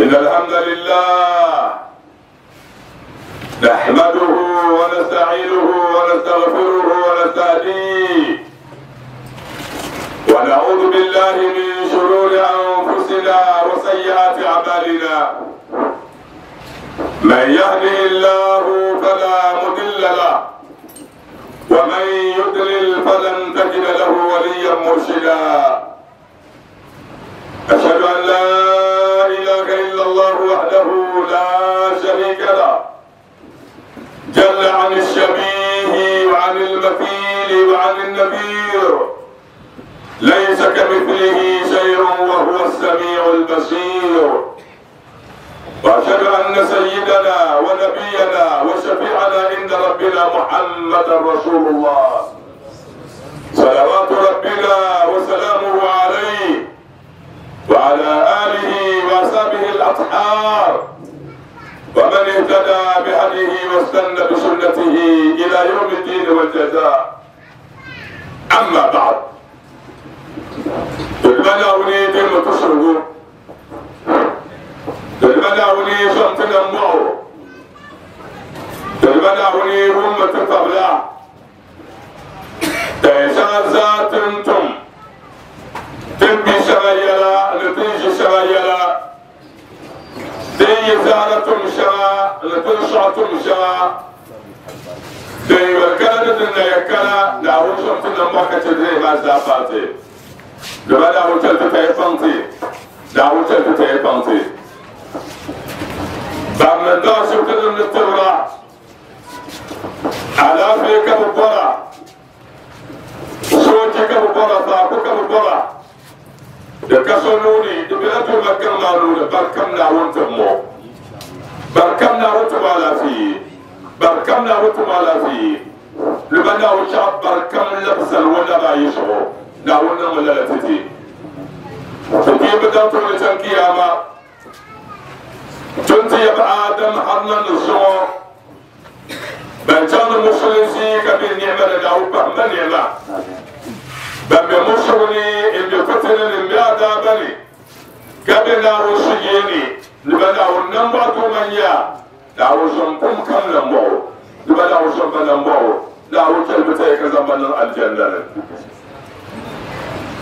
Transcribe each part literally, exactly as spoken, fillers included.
إن الحمد لله نحمده ونستعينه ونستغفره ونستهديه ونعوذ بالله من شرور أنفسنا وسيئات أعمالنا من يهده الله فلا مضل له ومن يضلل فلن تجد له وليا مرشدا أشهد أن لا إله إلا الله وحده لا شريك له جل عن الشبيه وعن المثيل وعن النذير ليس كمثله شيء وهو السميع البصير وأشهد أن سيدنا ونبينا وشفيعنا عند ربنا محمد رسول الله صلوات ربنا وسلامه عليه وعلى آله وأصحابه الأطهار ومن اهتدى بهديه واستنى بسنته إلى يوم الدين والجزاء. أما بعد، تلمنا وني تسرقوا تلمنا وني شمتنا معه تلمنا وني هم تفبلا تيشازاتنتم تنبي شغيلا نتنجي شغيلا تي زارتم شغا نتنشعتم شغا تي وركالة نيكالا نعوشم تنموكة تدري ما زافاتي لما نعوشم تتيفانتي نعوشم تتيفانتي بامن داشو تدري نتورا على فيك ببرا سوتي كببرا فاكو كببرا da kasonuni da bilatu makam maluna barkam na wonta mo barkam na wonta mala fi barkam na wonta mala fi lubana wucha barkam labsal wala ba yisho na wonna mala titi to ki bada to ne tan kiyama tunti ya adam harnan so ban tan musulunci ka bi ni'ma da dawo ba ni'ma ban musuluni inda fatana ya da bane gabe na wasu yene liba na wannan ba to manya da wasu kum kam nan bo liba na wasu ban nan bo da wasu ta ta ka zaman nan aljanna ne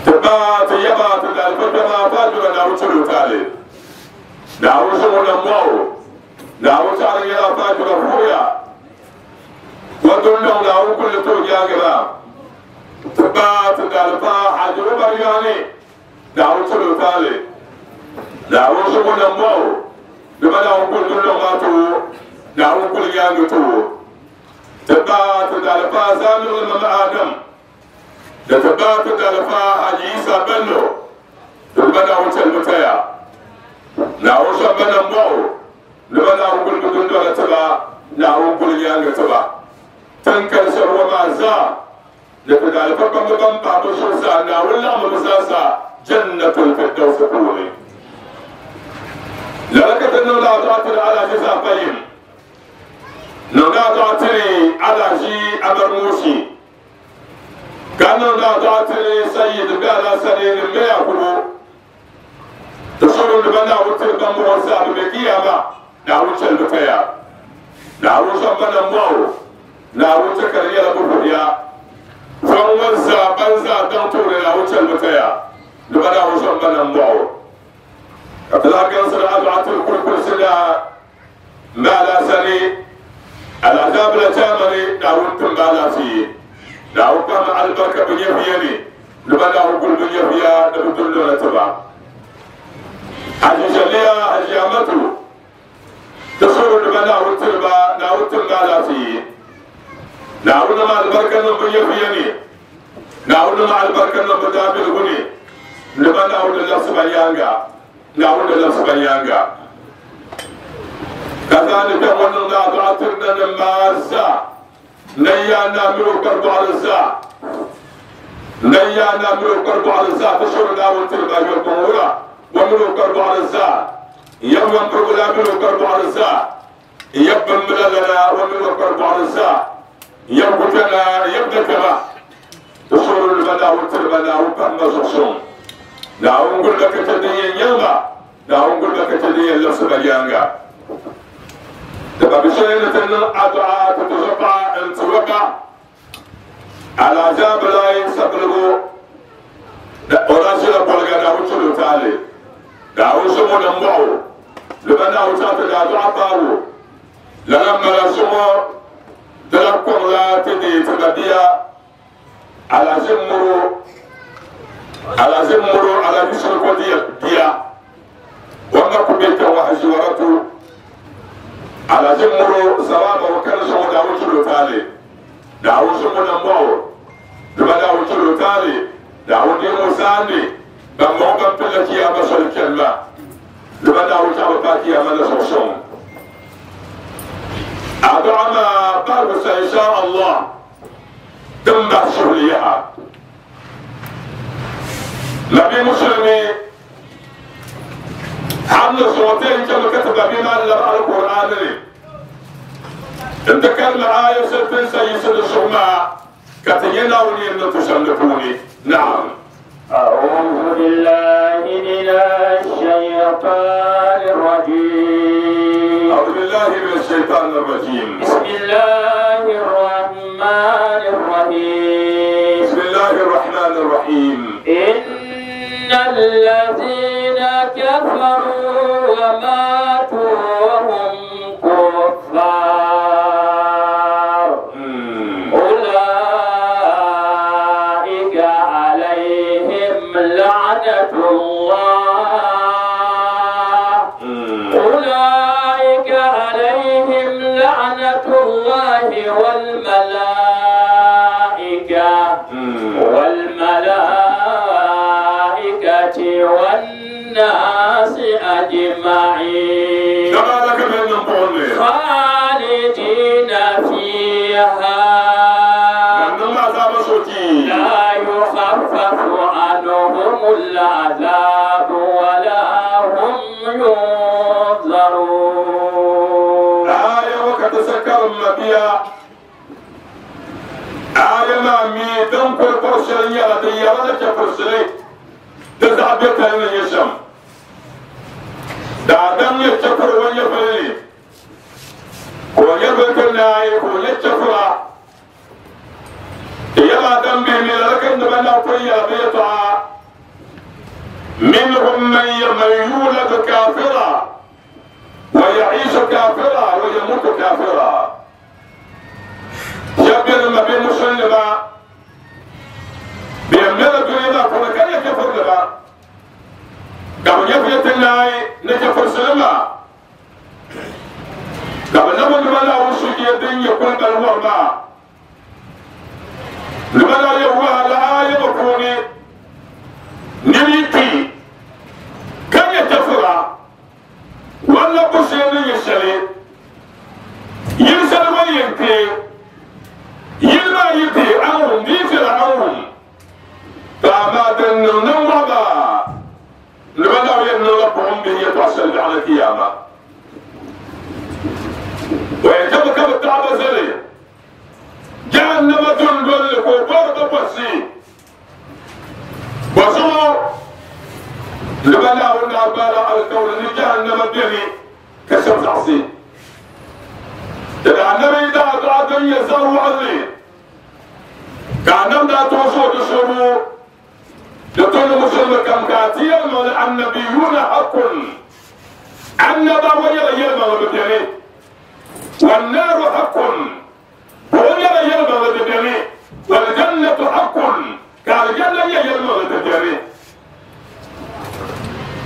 ta ba ta yaba ta da alfa ma fa da na wasu rutale da wasu wannan bo da wasu an ya fa da fuya wato nan da wasu kullu to ya gaba ta ba ta da alfa hajiru bariyane da wuce lotale da wuce wannan bawo da bada hukun dole ma to da hukun ya ga to tabata da alfa zalu mama adam da tabata da alfa haji isa bello da bada wuce lotaya da wuce wannan bawo da bada hukun dole ta ba da hukun ya ga to ba tan karshen wa ma za da da alfa ban ban ba to sa na wallahi mu sa جنة الفردوس قولي لذلك أنه لا تعتري على جزاء قيم لا تعتري على جي أبرموشي كان لا تعتري سيد بلا سنين ما يأكلوا تصور لبنا وتربى موسى بكيامة نعوش البكيا نعوش بنا مو نعوش كريا بكيا فوزا بنزا دكتور نعوش البكيا لبنا وشم بنا مباو كتلاقي سر أدعة الكل كل سنة ما لا سني العذاب لا تامني داون تنبالا فيه داون بام البركة بنيفيني لبنا وكل بنيفيا نبدل لنا تبع حاجة جليا حاجة أمتو تصور لبنا وتربا داون تنبالا فيه داون مع البركة بنيفيني داون مع البركة نبدابل غني لبنا ولا لسبيانغا لا ولا لسبيانغا كذلك وننا دعتنا لمازا نيانا ملوك البعرزا نيانا ملوك البعرزا تشرنا وتربا يقورا وملوك البعرزا يوم برغلا ملوك البعرزا يبن مللنا وملوك البعرزا يبتنا يبدكما تشرنا لبنا وتربنا وبما سوسون نعم نقول لك تدين يوما Naawuni guli ba ka chɛ din yɛn labisi ba yaaŋa. Ti ba bi shɛli ni ti niŋ adu'a ti ti zuɣupaɣa n-ti o ba Alhaji Abdullahi Sabiligu o daa ʒila boliga Naawuni chɛli o taali. Naawuni zuŋɔ ni mɔɣu di ba Naawuni chaŋ ti daa dɔɣi paabu lala m-mala zuŋɔ di la kɔŋla ti deei ti mabia Alhaji Muro Alhaji Muro Alhaji Shiriko bia o ma ku be kpɛŋɔ Haji Waratu Alhaji Muro Sawaba o kani zuŋɔ Naawuni chɛli o taali. Naawuni zuŋɔ ni mɔɣu di ba Naawuni chɛli o taali. Naawuni deemi o zaani ban mɔɣu ban pilila kiyama soli chani maa di ba Naawuni chaɣ bi paai kiyama ni zuɣu suŋ. Adu'a maa bahigu sa insha Allah din bahi suhuli yaha. Nabi Musulmi har ni zuɣu ti yɛn chɛmi ka ti ba bia maa labi Alkur'aani ni n ti karimi aya shɛli ti ni sa yiɣisi di zuɣu maa ka ti nyɛ Naawuni yɛn niŋ ti shɛm di puuni. Naam. أعوذ بالله من الشيطان الرجيم. أعوذ بالله من الشيطان الرجيم. بسم الله الرحمن الرحيم. بسم الله الرحمن الرحيم. إن الذين كفروا وماتوا وهم كفار أولئك عليهم لعنة الله أولئك عليهم لعنة الله والملائكة والملائكة والناس أجمعين خالدين فيها لا يخفف عنهم العذاب ولا هم ينظرون. آية وكتسكر مبيا آية ما ميدن كل فرشلين يا ديارة كفرشلين تزعب يتهن يشم دادم يتشكر ويفلي ويبتنا يكون يتشكر يلا دم به من لكن بنا قيا بيطع منهم من يولد كافرا ويعيش كافرا ويموت كافرا. شبير ما بين مسلمة بيمر الدنيا كل كان يكفر لما قبل يفيت الناي نكفر سلمة قبل نبغى نبغى وشك يدين يكون بالورما لماذا يهوى لا يبقوني نميتي كان يكفر ولا بشيء يشلي يرسل وينتي يلما يتي أمرهم ديفر أمرهم فما دنن وضع لماذا ينربهم به يتوصل على القيامة ويجب كبتعب زلي جهنم تندل كبر بسي وزو لماذا ونعبال على الكون جهنم به كسب تعصي إذا النبي دا دعا يزار علي كأنم دا توصو تشرو لطول مسلم كم كاتيا من النبيون حق النبا ويلا يلما وبدني والنار حق ويلا يلما وبدني والجنة حق كالجنة يلما وبدني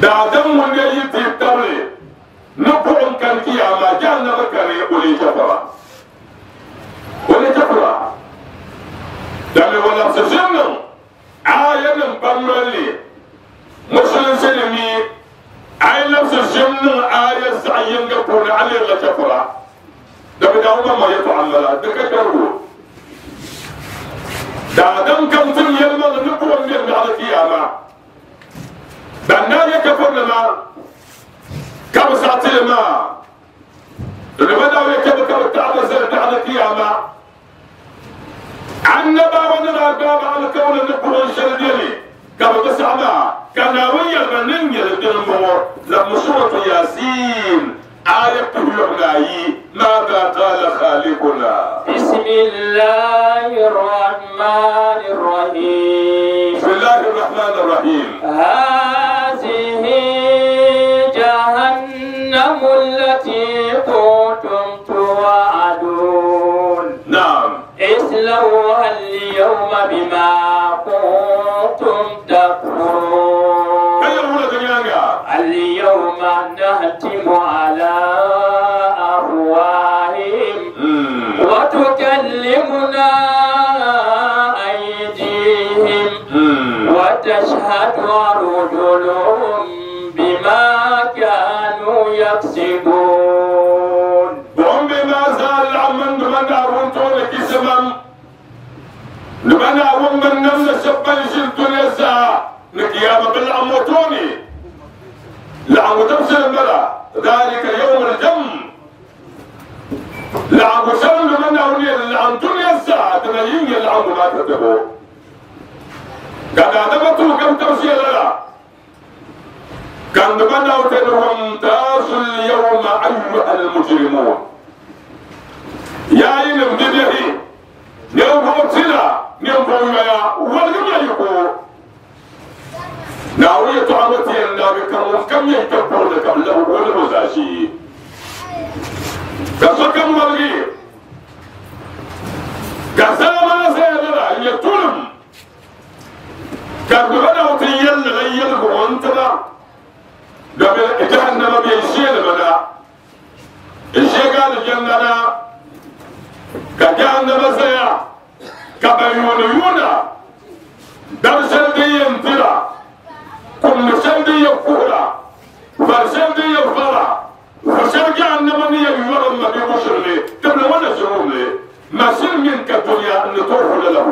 دا دم من يتي تبلي نبوم كان كياما جهنم كان يقولي كفرا ولي كفرا دم ولا سجنم آية من بمرلي مسلم سلمي آية نفس الجنة آية زعيم قبول علي لا كفرا دم داوما ما يتعمل دكتور دا دم كم تم يلما نبوم من على كياما بنا يكفر لما كم ساعتين ما لماذا يكفر كم تعب زرد على القيامة النبا ونرى الباب على كون النبوة الشرديني كم تسعة كان ويا المنن يلدن لما سورة ياسين آية يعناي ماذا قال خالقنا؟ بسم الله الرحمن الرحيم. بسم الله الرحمن الرحيم. هذه جهنم التي كنتم توعدون. نعم. اصلوها اليوم بما كنتم تكفرون. اليوم نختم على أفواههم وتكلمنا أيديهم وتشهد أرجلهم بما كانوا يكسبون. وهم بما زال عمن دمنا أرون كسمم دمنا أرون من نمنا شبان شلتون يسا نكيامة بالعموتوني لعم تمسل الملا ذلك يوم الجم لعم شل من أولي لعم دنيا الساعة تنين لعم ما تتبو قد أدبتو كم تمسي لنا كان بناو تنهم تاس اليوم أيها المجرمون يا إنم دبيه نيوم بوتنا نيوم بويا ولم يكو ناوية تعمتي النبي كم كم يكبر لك له ولا زاشي كسكم مرغي كسام سيدنا يتولم كبدا وتيل ليل وانتنا دبل جهنم بيشيل منا الشيء قال الجنة كجهنم سيا كبيون يونا درسل دي ينترا كل شيء يقولا فرشل يفرا فرشل جهنم يورم ما بيبشرني قبل وانا شروني ما شر منك الدنيا ان تروح له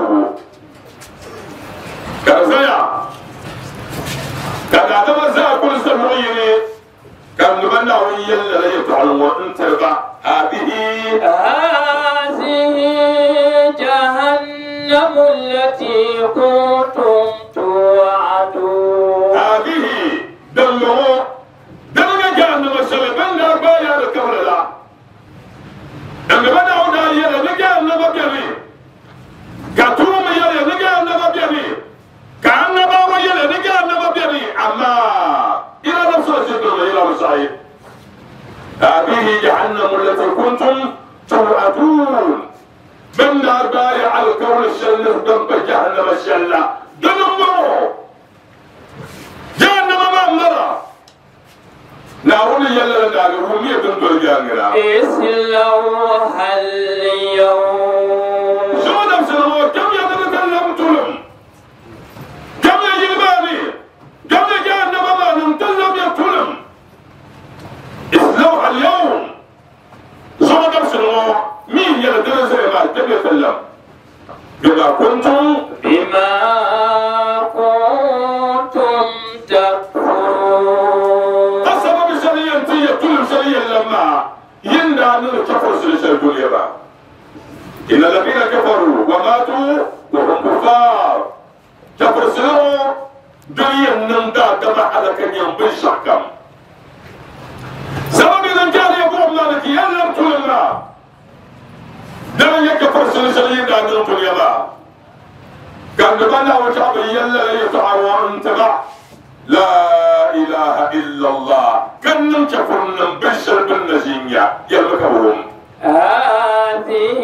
كرزيا كان عدم زا كل سمعيني كان نبنى ويلا لا يتعلم وانت هذه هذه جهنم التي كنتم توعدون. هذه دمه دمنا جهنم الشلبان لا بايا الكبر لا دم بنا ودا يلا نجهنم بيبي كتوم يلا نجهنم بيبي كأن بابا يلا نجهنم بيبي أما إلى نفس الشيء إلى مصايب. هذه جهنم التي كنتم توعدون. من بايع على الكون الشلة دم جهنم الشلة دمه جهنم ما مرة نارون يلا نار رومية دم جهنم اصلوها اليوم. شو نفس الله كم يتكلم تلم كم يجباني كم جهنم ما نمتلم يتلم اصلوها اليوم. شو نفس الله مين يلا درس ما تبي بما كنتم بما كنتم تكفرون. السبب شريا تي كل شريا لما يندى من الكفر سلسل الدنيا با إن الذين كفروا وماتوا وهم كفار كفر سلسل دنيا نندى كما على كن ينبي شكم سبب إذا كان يقول مالك يلم تلما دم يكفر سلسل يندى من الدنيا با كان بنا وشعب يلا يتعاون تبع لا إله إلا الله كن كفرنا بشر بالنزينيا يلقون. هذه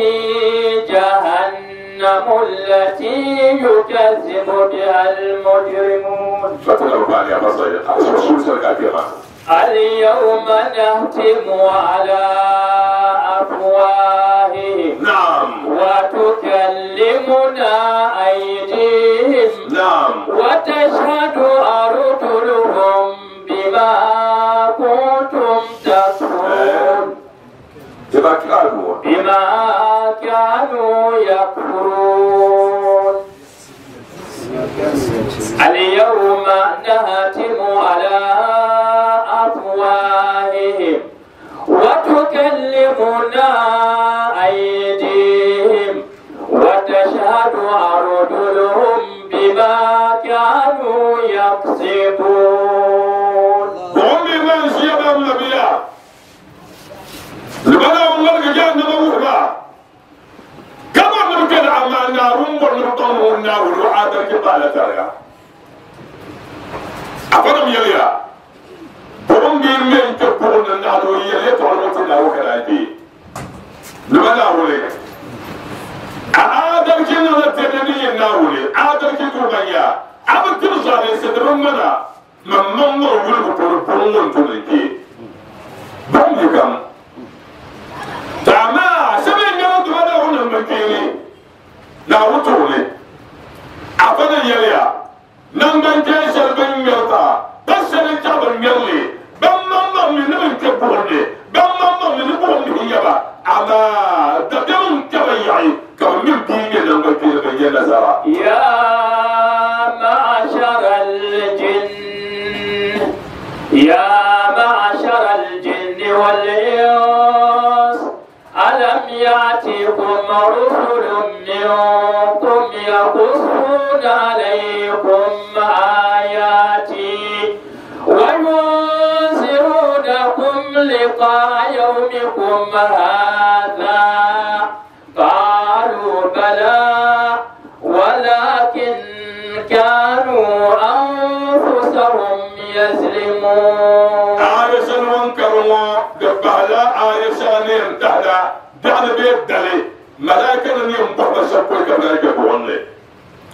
جهنم التي يكذب بها المجرمون. اليوم نختم على أفواههم. نعم. وتكلمنا أيديهم. نعم. وتشهد أرجلهم بما كنتم تكفرون. بما كانوا يكفرون. اليوم نختم على أفواههم وتكلمنا أيديهم وتشهد أرجلهم بما كانوا يكسبون. عادل كبالة ترجع أفرم يليا بقوم بيمين كبرون النهار يلي تعلمت الله وكلايتي لما نقولي عادل كنا نتني الناولي عادل كتوبيا عبد ترجع لسدرم منا من من نقول بقول بقول تولي بقوم تمام سبين يوم تبدا هنا مكيني لا وتولي أفضل يليا نمبر جيش البن يرتا بس الجبل يلي بم بم من من كبرني بم بم من بقول يبا أما تدم كبيعي كم من بيجي نمبر كيل نزارا يا معشر الجن يا معشر الجن والإنس ألم يأتكم رسل منكم يقصون عليكم آياتي وينذرونكم لقاء يومكم هذا قالوا بلى ولكن كانوا أنفسهم يظلمون. عائشة وانكروا دبهلا عائشة نيم تهلا دعنا بيت دلي ملاكنا نيم بحب شكوي كملاك بوانلي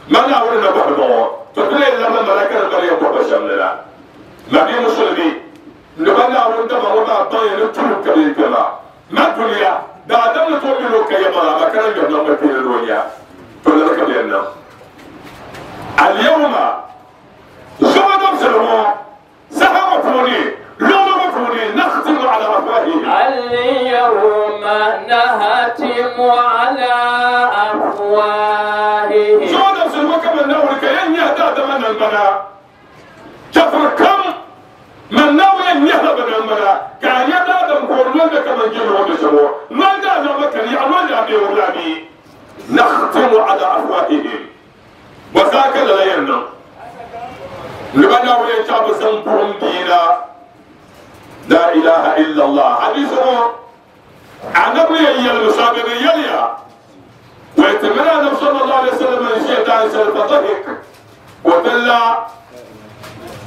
ما نعولنا بحبه تقولي لما ملاكنا نيم بحب شملنا ما بي مسلمي نبنا عولنا ما بطايا نتلو كبير كما ما دنيا دعنا نتومي لك يا ملا ما كان يبنى مكين الدنيا تقول لك بينا اليوم زمن سلمو سهر فوني لون فوني نختم على أفواههم. اليوم نختم على أفواههم. زمن سلمو كما نقول كأن يهدى من الملا كفر كم من ناوي أن يهرب من الملا كأن يهدى من كورنون كما يجيبون بسمو ما دام مكان يعمل أبي ولادي نختم على أفواههم وذاك لا ينم لبنا ويشاب سنبهم دينا لا إله إلا الله حديثه عن أبي المسابق يليا ويتمنى النبي صلى الله عليه وسلم أن شيطان فضحك وتلا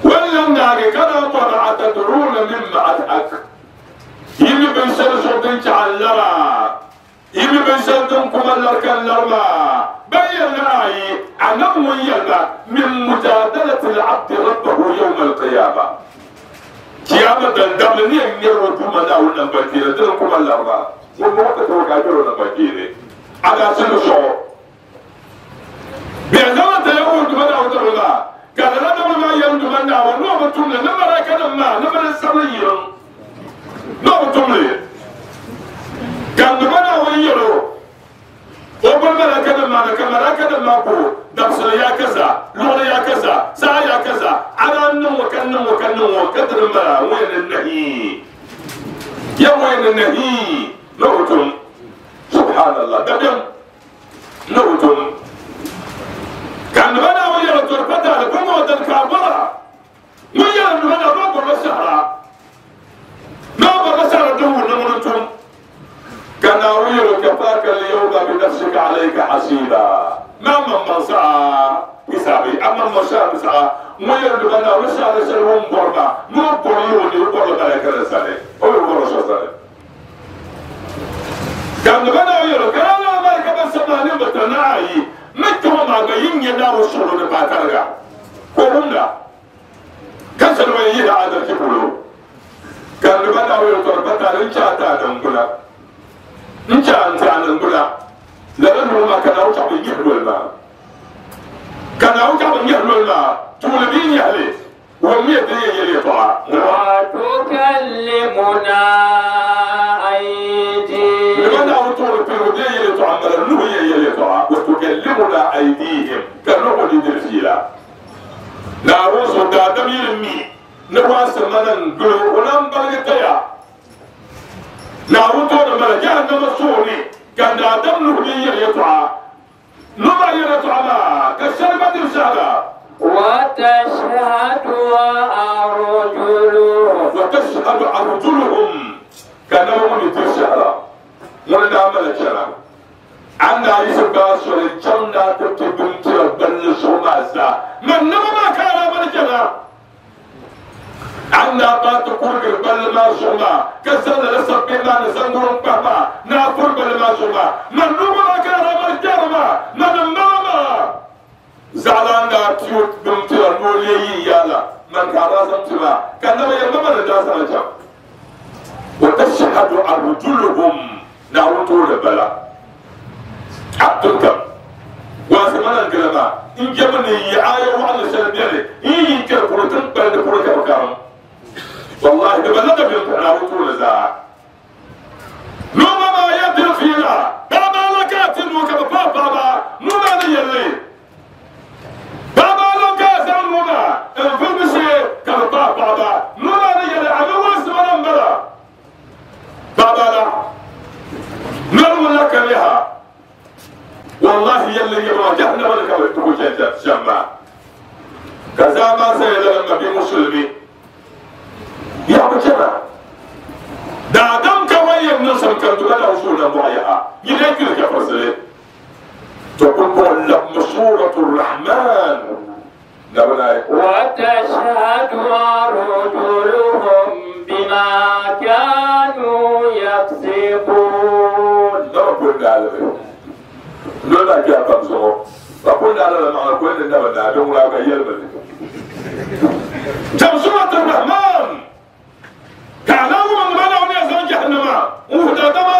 ولم ناري كان طلع تدرون مما أضحك يمي بن سرسو تعلرا يمي بن سرسو كمالر كاللرما بين رأي أنه يلا من مجادلة العبد ربه يوم القيامة قيامة الدم نيم يرو كما لا ونبكير دل كما لا ما وموت توكاجر ونبكير على سنشو بينما تيوم دمنا ودمنا قال لا ما يوم دمنا ونوم تمنا نمرا كنا ما نمرا سمير نوم تمنا كان دمنا ويرو وقل ملكنا ما كملكنا ما بو دبسل يا كذا لولا يا كذا سا يا كذا على النوم وكن وكن وكدر ما وين النهي يا وين النهي نوتم سبحان الله دبيم نوتم كان بنا ويا تربتا لكم ودن كابرا ويا بنا رب الشهر ما بشر دون نمرتم كان أريد كفاك اليوم بنفسك عليك حسيبا ما من من سعى حسابي أما من سعى سعى ويرد بنا رسالة سلوم برما مو بريوني وبرد عليك رسالة أو برد رسالة كان بنا يرد كان أنا ما بس ما نبتناي متى ما جايين يدارو شغل نباترجع كورونا كسر وين هذا كله كان بنا يرد بنا رجعت نقوله نجا أنت عن البلا لأنه ما كان أوجع بيجهل الماء كان أوجع بيجهل الماء طول بين يهلي ومية بين يلي طاع وتكلمنا أيديهم لماذا أوتور في ودي يلي طاع ملنه يلي طاع وتكلمنا أيديهم كأنه يدرسيلا لا روز دادم يلمي نواس من نقول ونام بلغتيا ناروتو لما جهنم الصوري كان آدم نهدي يطعى نما يطعى ما كالشربة الشهادة وتشهد أرجلهم وتشهد أرجلهم كانوا يتشهد ولنا عمل الشرع عندنا يسبع سوري جنة تبنتي بل Banda ba ta kurgir balli maa zuɣu maa ka zaŋ lala sabbihi maa ni zaŋ wurim kpahi maa ni a kuri balli maa zuɣu maa man numa maa ka ramar jɛri maa man n bala maa zaɣalan daa piyo bim tira ni o lee yi yaala man ka a daa zaŋ ti maa ka naba yɛn ma ni daa zaŋ chaŋ wa tashhadu arjuluhum Naawuni tooni bala abdul kam waasi mana n gili maa n jɛmi ni yi aya waɣanli shɛli bɛni n yi yi kpɛri polo tin kpali di polo ka bi karim wallahi di bala ka bɛn Naawuni tooni zaa numa maa ya diri fiila paɣaba la ka a ti nuu ka bi paai paɣaba nuu maa ni yɛlli paɣaba la ka a zaŋ nuu maa n vurimi shee ka bi paai paɣaba nuu maa ni yɛlli a mi waasi mana n bala paɣaba la norimu la ka liha wallahi yɛlli yɛlli jahannama ni ka bi tugu shɛm maa ka zaa maa saya lala ma bi musulmi yaɣabu chɛna daadam ka wan yɛn niŋ shɛm kan tuba na wusu na mɔɣu yaha yi dee kpiri kafirsili to kun bɔŋɔ labmi suratu rahman nabinayi وتشهد أرجلهم بما كانوا يكسبون naba kun daalimi lɔla kɛ a pam zuɣu ba kun daala la maɣa kun ni naba naa din wula ka yɛlimi li jam suratu rahman ka alaamu man ba na wani zaŋ jahannama n wuhi daadama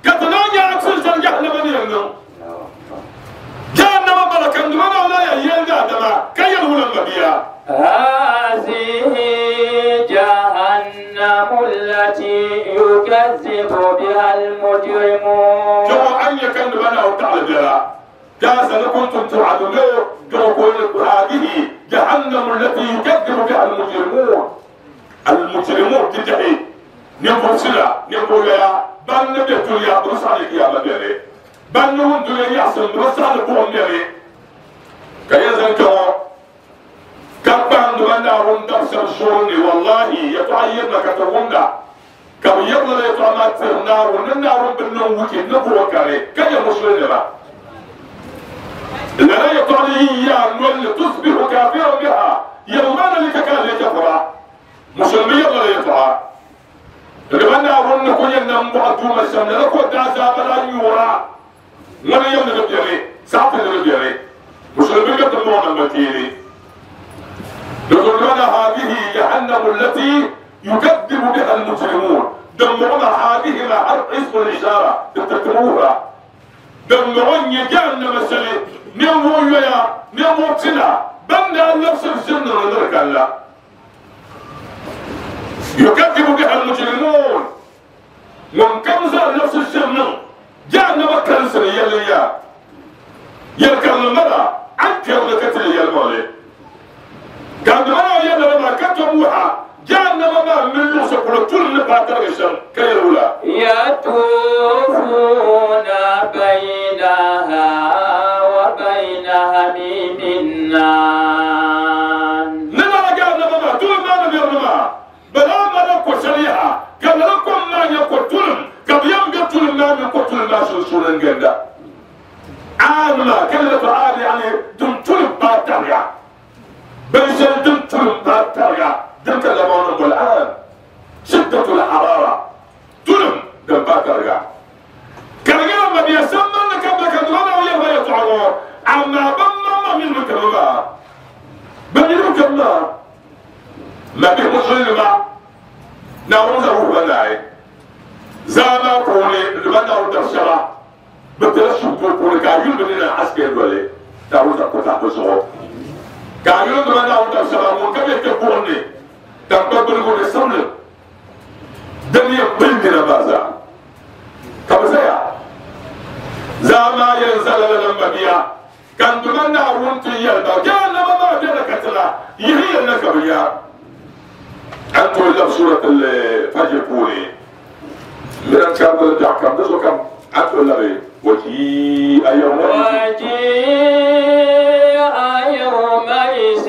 ka ti naan nyɛ aksiri shɛli jahannama ni yɛn niŋ jahannama bala kan duma na wula ya yɛn daadama ka yɛli wula ma bia هذه جهنم التي يكذب بها المجرمون جمع أن يكن بنا وتعالى بها كاسا كنتم توعدون هذه جهنم التي يكذب بها المجرمون المجرمون تنتهي نبو سلا نبو يا بان نبي توليا برس عليك يا مديري بان نون دوليا يحسن برس على بوم ديري كيزن كو كبان دوانا روندا سرشوني والله يتعين لك تروندا كم يلا يطعم النار وننار بالنوم وكي نبو كاري كي مسلم با لا يطعي يا نول تصبح كافرا بها يوما لك كان يكفر مسلمي يلا يطعم لمن أرون كل يوم بعد ما سمع لك ودع زابلا يورا ولا يوم نبيري ساعة نبيري مسلمي يطلعون المتيري يقولون هذه جهنم التي يكذب بها المجرمون دمرنا هذه ما حرف اسم الإشارة تتكروها دمرون جهنم السلي نمو يا نمو تنا بنا نفس الجنة ونرك الله يكذب بها المجرمون من كمزة نفس الجنة جهنم كنسر يلي يركب المرأة أنكر لكتل يلمولي كان ما يلا ما كتبوها جهنم ما من لوس كل طول نباتر الشر كيرولا يطوفون بينها وبين حميم النار نما جهنم ما طول ما نبيرنا بلا ما نكو شريحة كان لكم ما يقتل كبيم قتل ما يقتل ما شرشورن جندا عامة كلمة عام يعني دم طول باتريا بنشل دم طول باتريا دم كلامون والآن شدة الحرارة تلم دم باتريا كان ما بيسمى لك بك دوانا ويا ما يطعمون أما بما من مكرما بني مكرما ما بيمشي ما نعوذ بالله زاما قولي لمن أردت بترشوا بقول كايون بنينا عسكر ولا تعوذ كتا بزو كايون لمن أردت شرا ممكن يكبرني تبقى بقول سمل دنيا بلدنا بازا كم زيا زاما ينزل لنا بيا كان دمنا ونتي يلبا كان ما بينا كتلا يهي النكبيا أنتوا إلا بسورة الفجر كوني من كم كم دزو كم أنتوا إلا بي وجيء يومئذ وجيء يومئذ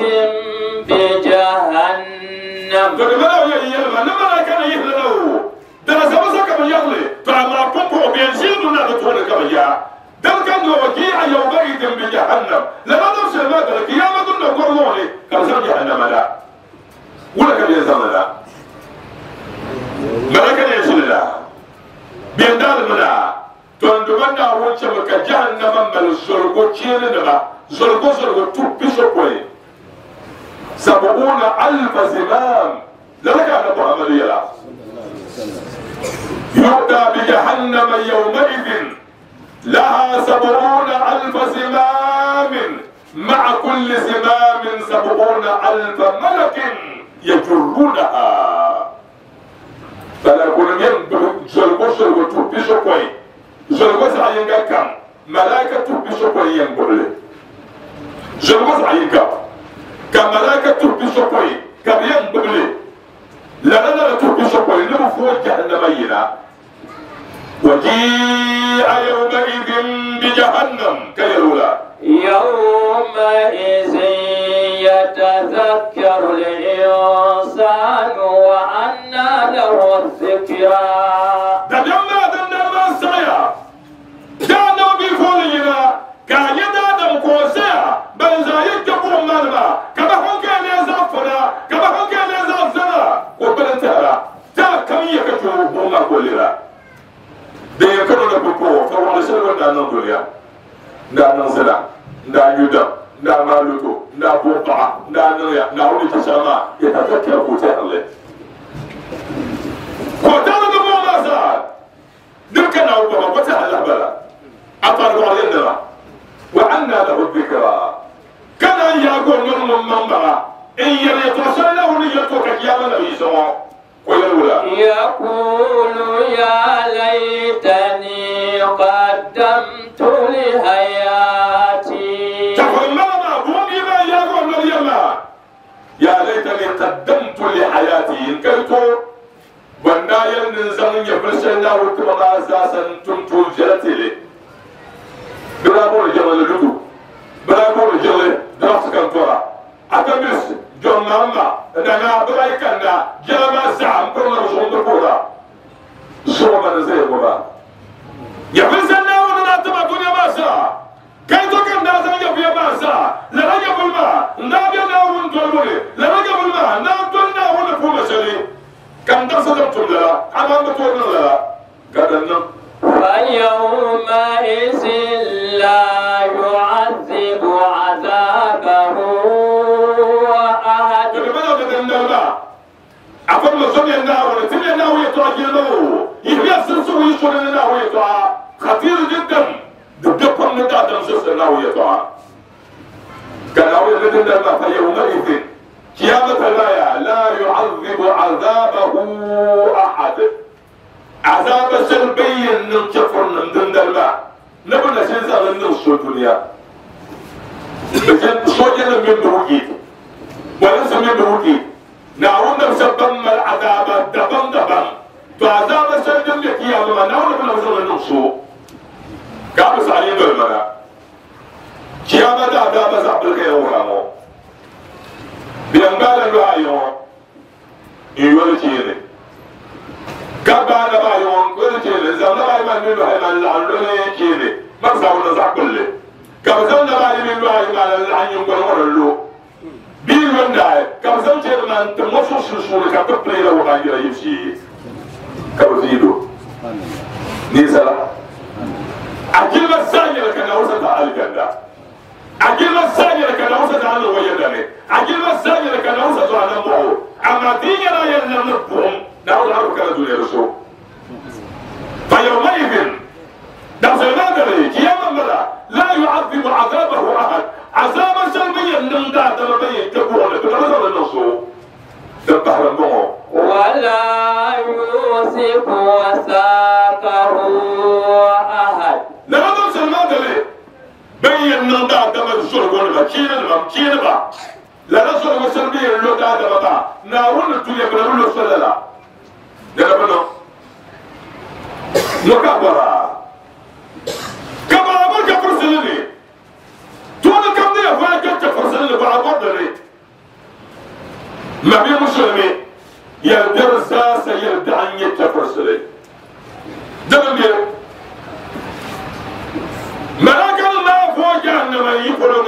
بجهنم تقول يا يلما لما كان يهلو درس مسك من يغلي فما كنت بينزل من تقول كما يا دل كان وجيء يومئذ بجهنم لما نفس المادة القيامة نقول كم جهنم لا Wala ka bɛ zaŋ la malaka ne shilla bin dal mana to ndo na wuce maka jahannama mal zurgo cene da ba zurgo zurgo tuppi so koy sab'una alf zimam lalaka na Muhammad yala yu'ta bi jahannama yawma idhin laha sab'una alf zimam ma'a kulli zimam sab'una alf malakin yajurrunaha bala ko ngem zurgo zurgo tuppi so koy zurgo sa yinga kam malaika tuppi so koy yengole zurgo sa yinga kam malaika tuppi so koy kam yengole la la la tuppi so koy ne fo jahannama yira waji'a yawma idhin bi jahannam kayrula يومئذ يتذكر الإنسان وأنى له الذكرى دجمنا دندر سيا جانا بيفولينا كايدا دم كوسيا بنزايك كبر مالما كما هون كان يزافنا كما هون كان يزافنا وبنتها تا كم يكتو بوما كوليرا دي كانوا نبكو فوالله سلوى دانا دنيا دانا زلا دا يودا دا مالوتو دا بوبا دا نويا دا ولي تسامى يتذكر كوتي الله كوتي الله بوما زاد دكنا وبابا كوتي الله بلا أفرغ علينا وأنا له الذكرى كان يقول من من برا إن يتوصل له ليتوك يا من يسوع ويقول يقول يا ليتني قدمت لحياتي يا ليتني قدمت لحياتي إن كنت بنايا نزل يفرشنا وكما أساسا تمتو جلتي لي بلا بول جمال لدو بلا بول جلي درس كنتورا أتمس جون ماما أنا بلاي كنا جلما سام كنا رسول دكورا شو ما نزل بابا يفرشنا وننا تما دنيا ما سا كي تكن نازل يبيا ما سا لا يبل ما نابي ناون تولي لا يبل ما ناون ناون فوق شري كم درس تقول لا أنا ما تقول لا قدرنا فيومئذ لا يعذب عذابه أحد. أفهم الزمن الناول تبي الناول يتوجه يبي السلسلة يشون الناول يتوجه خطير جدا دبدبهم من دادم سلسلة الناول يتوجه كان أول مدن فيومئذ قيامة لا لا يعذب عذابه أحد عذاب سلبي ننشفر من دون الماء نبنى سنزل النص الدنيا بجد صوجنا من بروكي وليس من بروكي نعود نسبم العذاب دبم دبم فعذاب سلبي قيامة نعود نبنى النص قابس علينا المرأة قيامة عذاب سعبك يا ورامو بيانغالا لو يولي تيري كابانا بايون ولي تيري زعما باي ما نلو هاي ما لعلو تيري ما زعما زع كله كابزان باي من لو هاي ما لعن يقول ورلو بيلون داي كابزان تيري ما انت مصو سوسو كاببلي لو غانجرا يمشي كابزيدو نيسلا أجل السانية لكن أوسط على الجنة أجل السانية لكن أوسط على الويداني أجل السانية لكن أوسط على المعو أما دينا يلنبهم نعود عرب كان دون يرسو فيومئذ دخل نادري قياما ملا لا يعذب عذابه أحد عذابا سلبيا من ذات ربي تقول بنظر النصو دبحر المعو ولا يوثق وثاقه أحد لماذا سلمان دلي بين ندا دم الزرق ولا كين ما كين با لا نزل مسلمي لو دا دا با نارون الدنيا بنقول له صلى الله لا بنا نكبر كبر أبوك فرسلني تقول كم دي فاك فرسلني بعد دلي ما بي مسلمي يلدر ساس يلدعني يتفرسلي دم ملاك الله فوق جهنم يقولون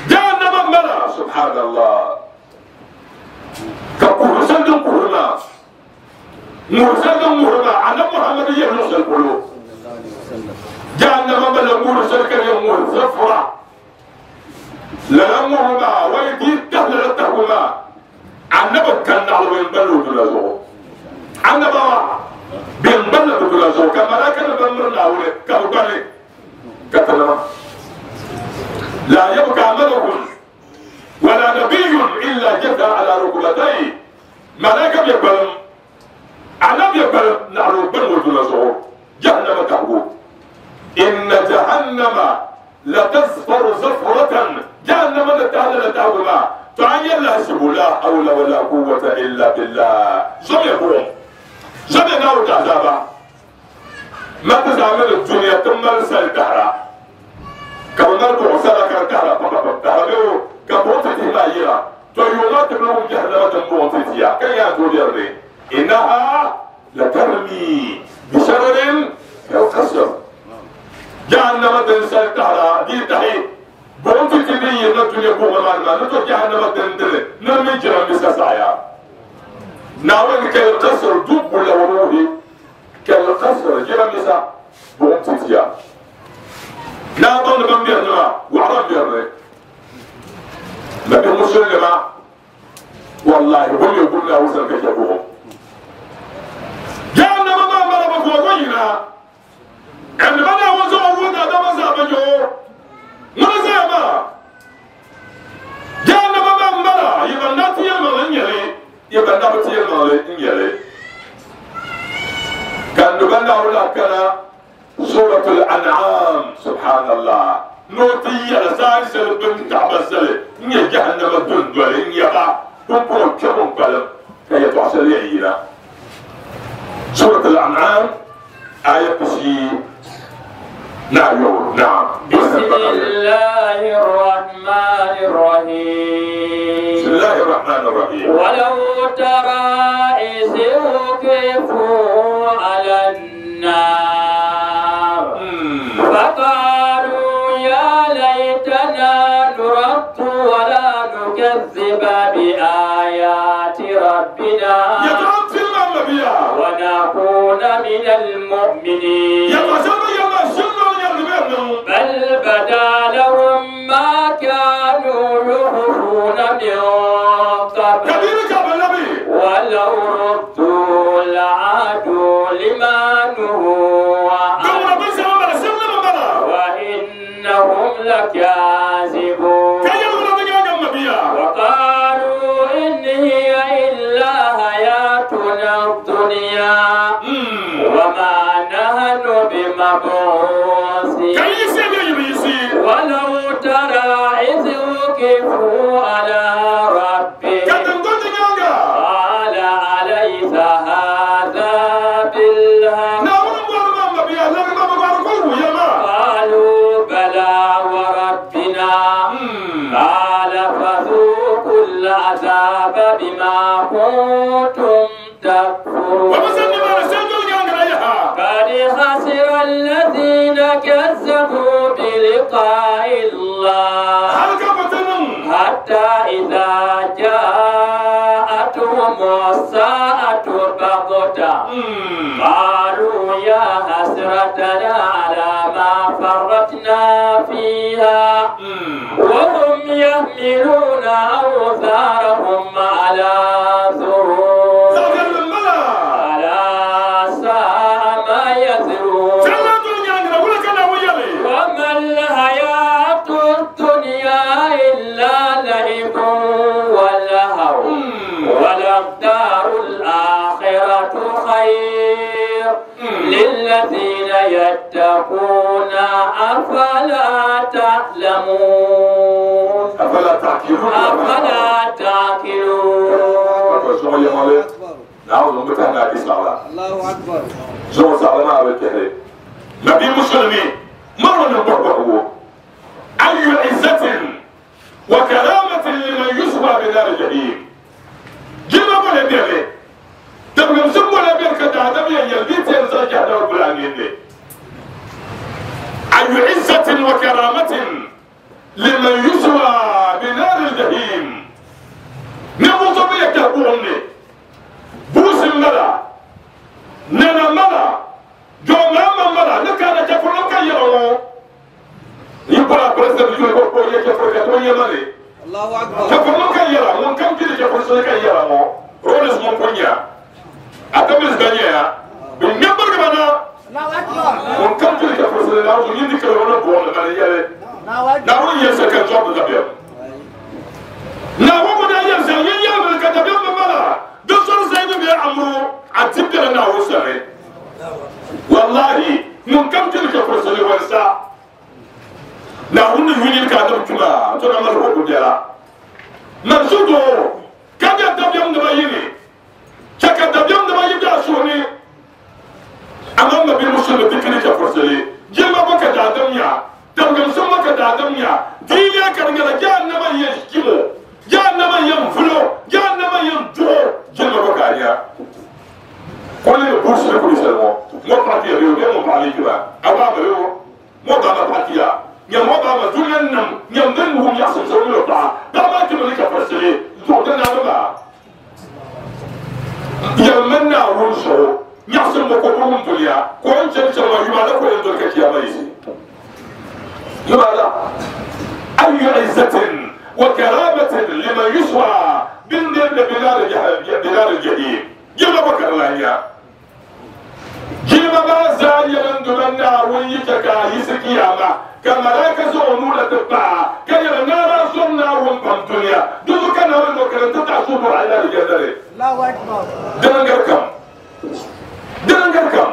جهنم ملا سبحان الله مرسل مرما على محمد يهلس القلوب جهنم بل مرسل كريم مرسفرة للمهما ويدير تهل التهما عنبا كان على وين بلو دلازو عنبا بين بلو دلازو كما لا كان بمرنا ولا كهبالي كتلما لا يبقى ملك ولا نبي إلا جثى على ركبتيه ملاك يقبل عنب يقبل نعلو بلو دلازو جهنم تهو إن جهنم لتزفر زفرة جهنم لتهل لتهوما تعين لا لا حول ولا قوة إلا بالله زمي قوم زمي نار تعذابا ما تزعمل الدنيا تمر سالتها كما نرجع سالك التهرا تهرا كبوت تهمايرا تيوما تبلغ جهنم تنبوت تيا كي يقول إنها لترمي بشرر كالقصر جهنم تنسل تهرا دي تحي بونتي تبي نتوني كوما ما نتو جهنم تندل نمي جرام بساسايا ناوين كالقصر دوب لوروه كالقصر جرام بسا بونتي تيا لا ظن بمبيرنا وعرب بيرنا لكن مسلمة والله هم يقول له وزن كجابوهم جهنم ما مربك وغينا عندما وزعوا ودا دم زابجو مرزما جهنم ما مرا يبنى تيما يلي يبنى تيما يلي كان نبنى ولا كان سورة الأنعام سبحان الله نوتي لسان بن تعبسل ني جهنم الدندل يبا بوبو كم قلم كي تعسل يعينا سورة الأنعام آية بسي نعم نعم بسم الله الرحمن الرحيم بسم الله الرحمن الرحيم ولو ترى إذ وقفوا على النار فقالوا يا ليتنا نرد ولا نكذب بآيات ربنا ونكون من المؤمنين بل بدا لهم ما كانوا يخفون من قبل ولو ردوا لعادوا لما نهوا عنه وإنهم لكاذبون وقالوا إن هي إلا حياتنا الدنيا وما نحن بمبعوثين ولو ترى إذ وقفوا على ربهم قال أليس هذا بالحق قالوا بلى وربنا قال فذوقوا العذاب بما كنتم تكفرون قد خسر الذين كذبوا بلقاء الله حتى إذا جاءتهم الساعة بغتة قالوا يا حسرتنا على ما فرطنا فيها وهم يحملون أوزارهم على ظهورهم ألا ساء ما يزرون وما الحياة الدنيا إلا لعب ولهو وللدار الآخرة خير للذين يتقون أفلا تعلمون أفلا تعقلون أفلا تعقلون الله أكبر نبي مسلمي مرة نبهه أي عزة وكرامة لمن يسوى بنار الجحيم جيما ولا بيري تبغى مسمى ولا بيرك تعدم يلبيت ينزل جهنم البلانين أي عزة وكرامة لمن يسوى بنار الجحيم نموت بيك تبوني بوس الملا بزبانيا بالنبر كمان وكم تلك فرصة لو يندي كلام بقول ما يلي ناول يسكن جواب الدبيب ناول بدا يسكن يلا الكتاب مالا دكتور زيد بن عمرو عتبر ناول سري والله من كم تلك فرصة لو ناول يوني الكاتب كما ترى ما هو بدلا مرسودو كذا دبيب نبيني كذا دبيب نبيني بيسوني أمام نبي مسلم تكني كفرسلي جل ما بك دادميا دم سما كدادميا دينيا كرجلا جانا ما يشكيمو جانا ما ينفلو جانا ما ينجو جل ما بك عليا كل بورس كل سلمو مو باتيا ريو مو بالي كذا أبا ريو مو دانا باتيا يا مو دانا دنيا نم يا من هم يحسن سوي له تا دانا كمل كفرسلي زودنا نبا يا من نارونسو نحسن مكوكم دنيا كون شيء شيء ما يبغى كون يدور كيا ما يصير يبغى أي عزة وكرامة لمن يسوى بندر بلاد الجحيم بلاد الجحيم يبغى بكر الله يا جيما ما زال يندمنا ويتكا يسكياما كما لا كزو نور تبع كي نرى سنة وهم الدنيا دو كان هو كان تتعصب على الجدل الله أكبر دنگر كم دنگر كم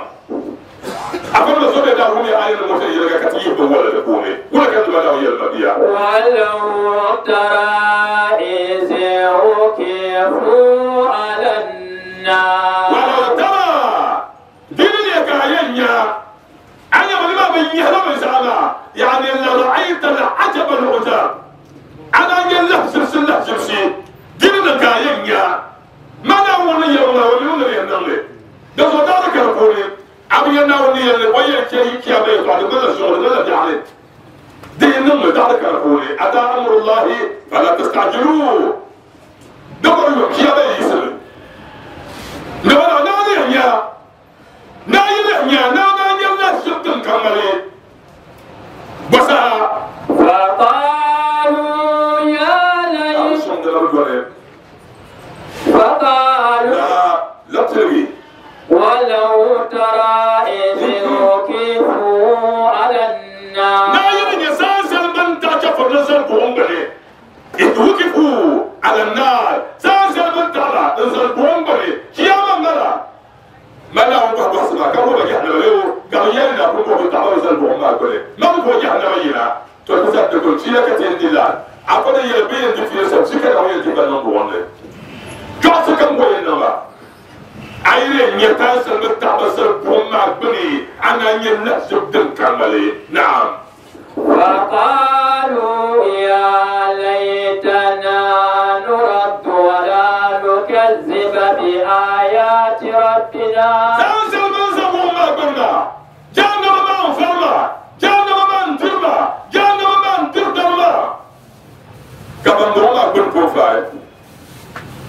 أفضل سورة دارومي آية المتيرة كتير ولا تقومي ولا كنت ولا هي المبيع ولو ترى إذ وقفوا على النار ولو ترى دلني كاينيا أنا ما بيني هذا زعما يعني لرأيت العجب العجاب أنا يلا سلسلة سلسلة دلني كاينيا ما نقول يوم ولا يوم ينام ده صدق كربوني أبي ناوني اللي ويا كي كي أبي قال ولا شغل ولا جعل دي نم دار كربوني أتى أمر الله فلا تستعجلوه دبر كي أبي يسر لا لا لا يا لا يا لا لا يا لا شفتن كمالي بس فقالوا يا ليت فقالوا لا لا تلوي ولو ترى إذ وقفوا على النار لا يمكن سانسل من تعرف نزل بومبلي إذ وقفوا على النار سانسل من ترى نزل بومبلي كيما نرى ما لا هو بس ما كانوا بيجي له قالوا يلا كم بتعرف نزل بومبلي ما هو بيجي على وينا تقول تقول شيء كتير دلال أقول يلبي يدفع سبسك أو يدفع نبومبلي جالس كم وين عيرين يتاسل متعبسر بوما بني أنا ينسب دل نعم فقالوا يا ليتنا نرد ولا نكذب بآيات ربنا سانسل من بوما بنا جانا ما فرما جانا ما ترما جانا ما تردما كمان بوما بن بروفايل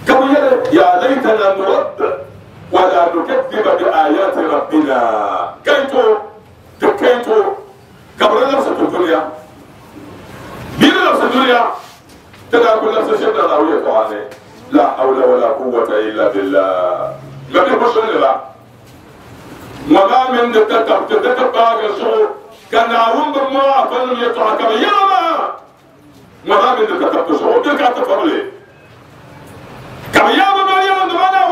كمان يا ليتنا نرد ولا نكذب بآيات ربنا كيتو تكيتو قبل نفس الدنيا بين نفس الدنيا تلا كل نفس شيء لا طعامه لا حول ولا قوة إلا بالله ما بيخش لا وما من تتب تتبع الشعور كان عون بالله فلم يطلع كما يا ما وما من تتب الشعور تلك تفضلي كما يا ما يا ما انا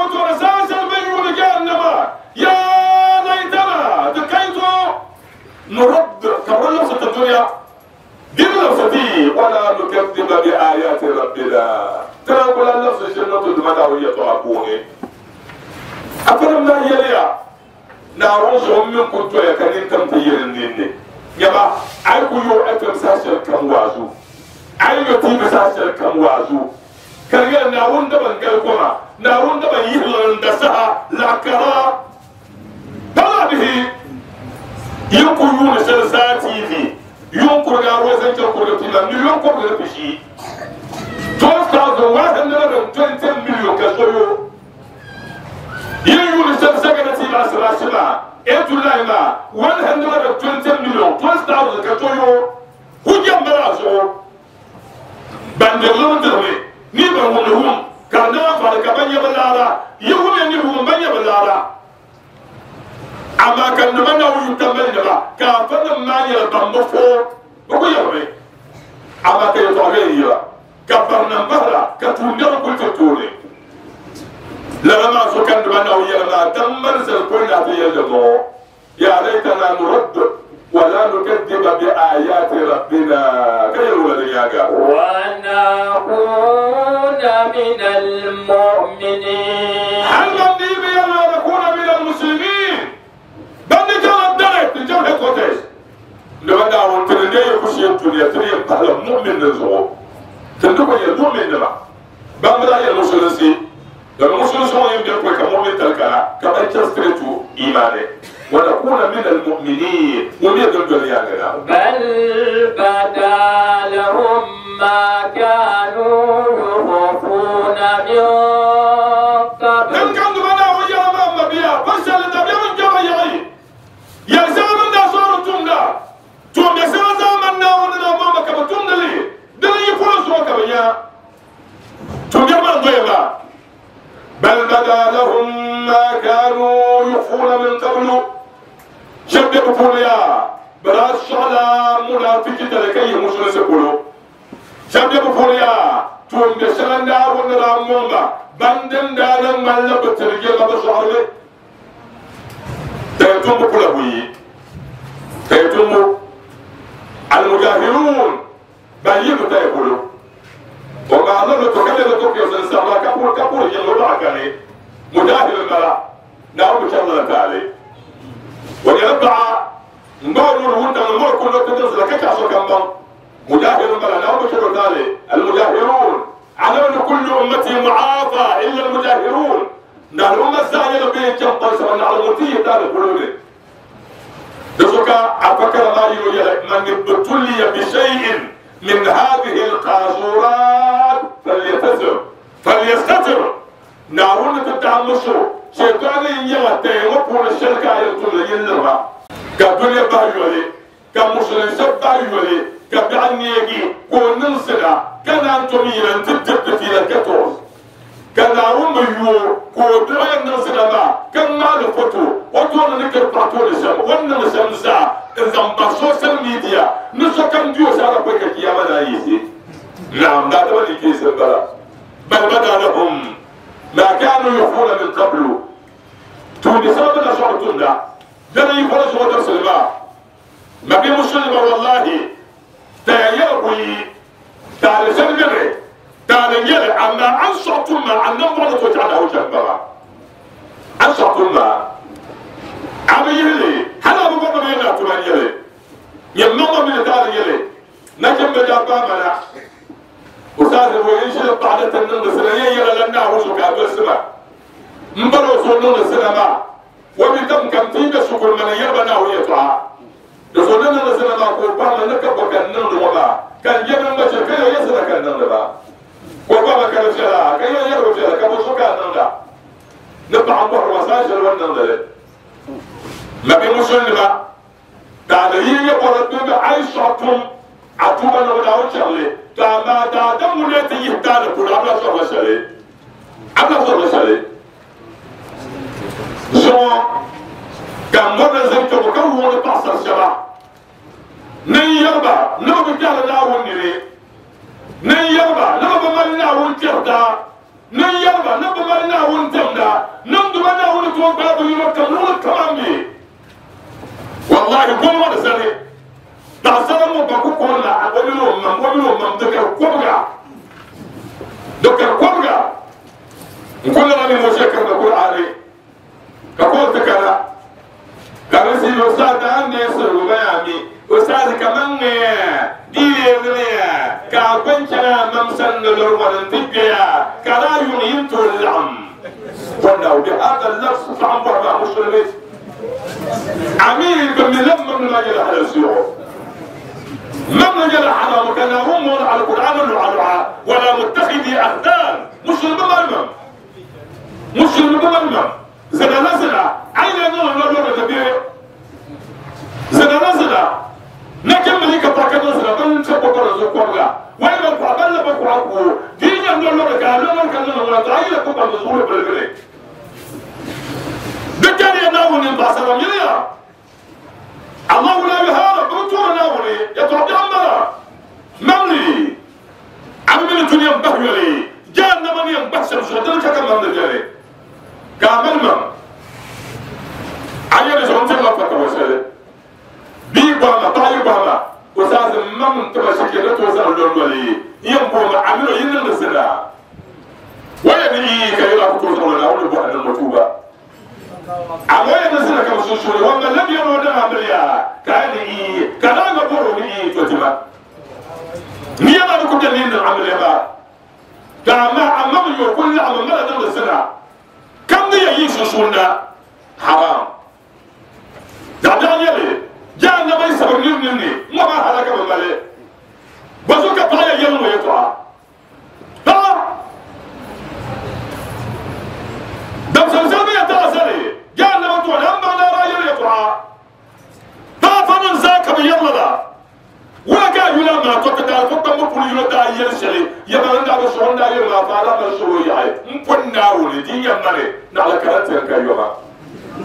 يا ليتنا تكيتو نرد كبر نفس الدنيا دين نفسي ولا نكذب بآيات ربنا ترى كل نفس الجنة دمنا وهي تعقوني أفلم لا يليا نارون من كنت يا كنين تم تيرنيني يما أيكو يو أتم ساشر كم وازو أيكو تيم ساشر كم وازو كان نارون دبن قالكما نارون دبن يهلن دسها لكرا به ينكر سلساتي في ينكر غاروزن تنكر تيلا مليون كور بشي twelve thousand one hundred twenty million كسويو ينكر سلساتي تيلا سلاسلا ايتولايما one hundred twenty million twelve thousand كسويو هجم براسو بندلون دري نيبر ونهم Ka na fara ka ban yaba lara yiwu ne ni hu ban yaba lara amma kan da na wu tambal da ba ka fa ma ya ban mo fo ba ko yabe amma ka to ga yi ba ka barna bahra ka tunda ko to tore la ma so kan da na wu ya ma dan manzal ko na ta yalla mo ya laitana nurad ولا نكذب بآيات ربنا كيف ولا ونكون من المؤمنين هل من نكون من المسلمين بل نجعل الدرك نجعل هكوتيس لما دعوا ترندي يخشي الدنيا تري بحال مؤمن نزو تندوكو يا مؤمن نبا بامبلا يا المسلمين لما المسلمين يمدي كمؤمن تلكا كما تشتريتو إيمانه ونكون من المؤمنين ومن الدنيا بل بدا لهم ما كانوا يخفون من قبل لم كانوا بنا ويا ما بيا بس اللي تبيا من جوا يعي يا زمان دا صار تومدا تومدا زمان نا ونا ما كم تومدا لي دلي يقول سوا كبيا تومدا ما دويا بل بدا لهم ما كانوا يخفون من قبل شبه بقوليا براش على منافق تلكي مسلم سكولو شبه بقوليا توم بسلام دا ونرا موما بندن دا مالا بترجع ما بشعره تيتم بقولا بوي تيتم المجاهرون بيجوا تيقولوا وما الله تكلم تكيو سنسامع كابور كابور يلو عكاني مجاهر الملا نعم إن شاء الله تعالى ويربع نور الهدى نور كل تنزل كعصا كم مجاهر الملا نعم إن شاء الله تعالى المجاهرون على أن كل أمتي معافى إلا المجاهرون نحن أمة الزانية لبين كم قرص من على المتي تعالى قلوبي دسوكا أفكر ما يقول من ابتلي بشيء من هذه القاذورات فليتزر فليستتر نارون تتعمشو شيطان يغتي وقول الشركة يطول يلرها كدنيا بايولي كمسلم سب بايولي كبعني كوننسنا كان أنتم يلن تدب في الكتوز كان نارون بيو كودرا ننسنا ما كان مال فتو وطول نكر بطول الشم ونن شمسا إذا بسوشيال ميديا نسو كم ديو سارة كويكا كياما نايسي نعم لا تبني كيس البلا بل بدا لهم ما كانوا يخفون من قبل توني سبب شعرتنا دنا يقول شو درس الماء ما بين مسلم والله تيابوي تعال سنجري تعال نجري أما عن شعرتنا عن نمر توجعنا وجنبها عن شعرتنا عم يهلي هلا بقول ما يلا تمان يلي يمنع من تعال يلي نجم بجابا منا وصار هو ينشل بعد تنن سنة يلا لنا هو شو كابل سما مبلو سنن سنة ما وبيتم كم تيجي شكر من يبنا هو يطلع سنن سنة ما كوبا من كبر كنن وما كان يبنا ما شكله يسرا كنن با كوبا ما كان فيها كان يروح فيها كابو شو كنن لا نبع عمر وساجل ونن له ما بيمشون ما تعالي يقول لك عايشتهم عطوبة نودا وشلي تاما تاما مولاتي يهتان كل عبلا صار شلي عبلا صار شلي شو كان مرة زوجته بكون تعصر شبع ني يربع نو بجال ناون نري ني يربع نو بمال ناون تردا ني يربع نو بمال ناون تمدا نو بمال ناون توقع بيوم كم نو كمان بي والله كل مرة سنة تعصر مو بكون كنا أقوله من أقوله من ذكر كبرى ذكر كبرى نقول أنا مشكر نقول عليه كقول تكلا كان سي أستاذ عندي سر بيامي أستاذ كمان دي كابنشنا ممسن للروان تبيا كلا ينيت العم قلنا بهذا اللفظ طعم برا مسلمين عميل بملم من لا يلحل السيوف من رجل حرام كان هم على القرآن وعلى ولا متخذي أخدان مسلم بمرمم مسلم بمرمم زنا نزنا عين نور نور نبي زنا نزنا نكمل لك بركة نزنا بل نتبقى رزقنا وين القرآن بل بقرآن دي yin lo lo ka lo lo ka lo lo ta yi ko pa zo le le de kare na woni ba sa ram ya Allah la yuhara butu na woni ya to jambara mamli amil dunya bahyali jahannama ni bahsal shudan ka kam mamli jare ka mamma ayere zo ntema pa ko sele bi ba ma ta yi ba ma ko sa mam to ba shike to sa lo lo li yam ko ma amilo yin nan sira waya ni ka yura ko so la wala bo an mutuba amma ya sira kam so so wanda lam yaro da amriya ka ni ka na ga boro ni to tima ni ya ba ko da ni amriya ba ka ma amma yo kullu amma la da sira kam ni yi so so na haram da da yele jahannama yi sabr ni ni ma ba halaka ba male bazo ka pa ya yelo ya to ha da san san ya ta sare jahannama to nan ba na ra yelo ya to ba fa nan za ka bi yalla da wala ka yula ma to ka ta ko ta mo pulu yula da yel sele ya ba nda ba so nda yel ma fa la ba so ya ai mpon na woni din ya mare na la karanta ka yo ba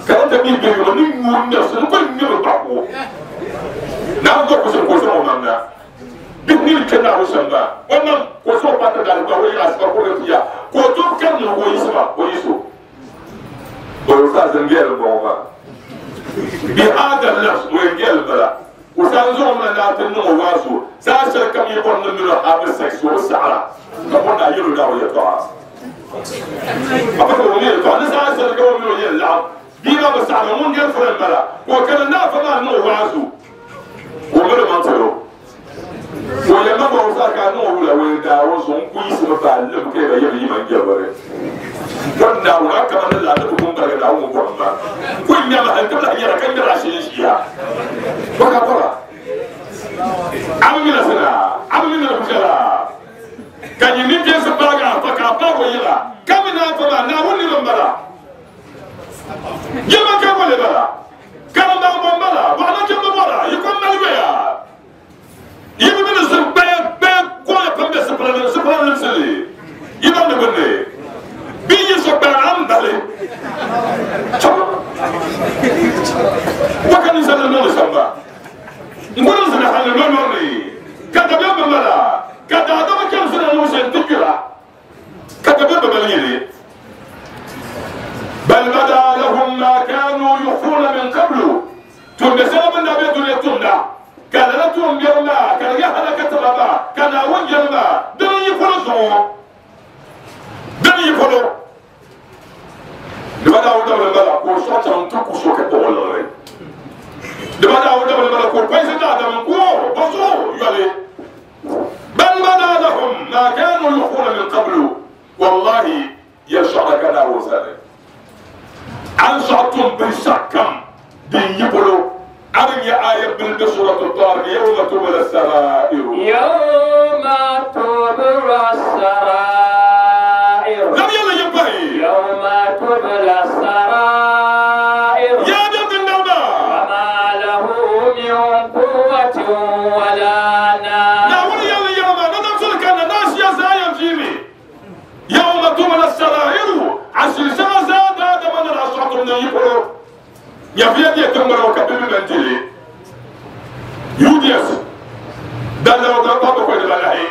karanta bi bi yo ni ngunda so ko ni ba ko na ko ko so ko so mamna bi ni ke na rusamba wannan ko so pa ta da ko ya asba ko ya ko to kan no ko yisba ko yiso ko sa zangel bo ba bi hada nafs wa ngel bala wa sa zo ma na tin no wasu sa shar kam yi bon no ha sex wa sa'ara ka bon da yiro da ya to ba ko ni to na sa shar ko mi yo la bi ba ba sa'ara mun gel furan bala ko kana na fa ma no wasu ko ngel man tsoro ko ya ma ba sa ka no wula we da wo so ku yi so ba le ke ba yi man ge bare don da wura ka man la da kun barga da mu ko ba ko nya ma han kabla yara kan da shi shi ya ba ka fara abu mina sana abu mina bukala kan yi ni je so ba ga fa ka pa ko yira kamina fa ba na woni ro bara yema ka ko le bara kan ba ba bara ba na ke ba bara yi ko malwe ya yi bi mina so ba ba ko ya pambe so pra so pra so yi ba ne benne bi yi so ba am dale chom wakani sana no samba ngoro sana halle no no ni kada be mala kada adama kam sana no sen tikira kada be mala yele bal bada lahum ma kanu yukhfuna min qablu tunda saban da be dole tunda kada la tum yawma kada ya halakata baba kada wajama dan yi folo so dan yi folo de bada wada bala ko so tan to ko so ke ko lore de bada wada bala ko paisa da da ko boso yale bal bada lahum ma kanu yukhfuna min qablu wallahi yashara kana wasale an sa'tum bi shakam din yibolo arin ya ayat bil surah at-tariq yawma tubla as-sara'ir yawma tubla as-sara'ir lam yalla yabai yawma tubla as-sara'ir ya dabin dawda ma lahu min quwwatin wala na wala yalla yawma nadam kana nas ya zayam jimi yawma tubla as-sara'ir asir zada da man al-asratu min yibolo ya fiye da tambara ka bi nan jere U D S dan da da ba ko da lahi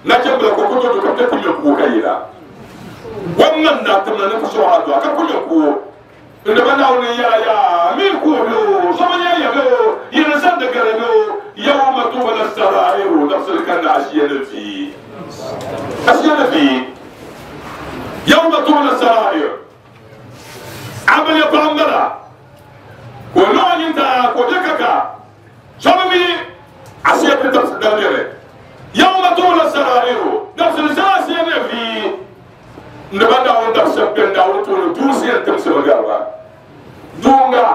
na ce ba ko ko to ka tafi ko kai la wannan na tamna na so ha do ka ko ko inda ba na wani ya ya mi ko do so man ya ya do yin san da gare do yawma tubla as-sara'ir nafsul kan ashiya fi ashiya fi yawma tubla as-sara'ir amal ya tambara ko no ta ko dekaka sabami asiya ta dalere yawma tubla as-sara'ir nafsul ashiya fi ndaba won da sabben da won to dusiya tamsa garba dunga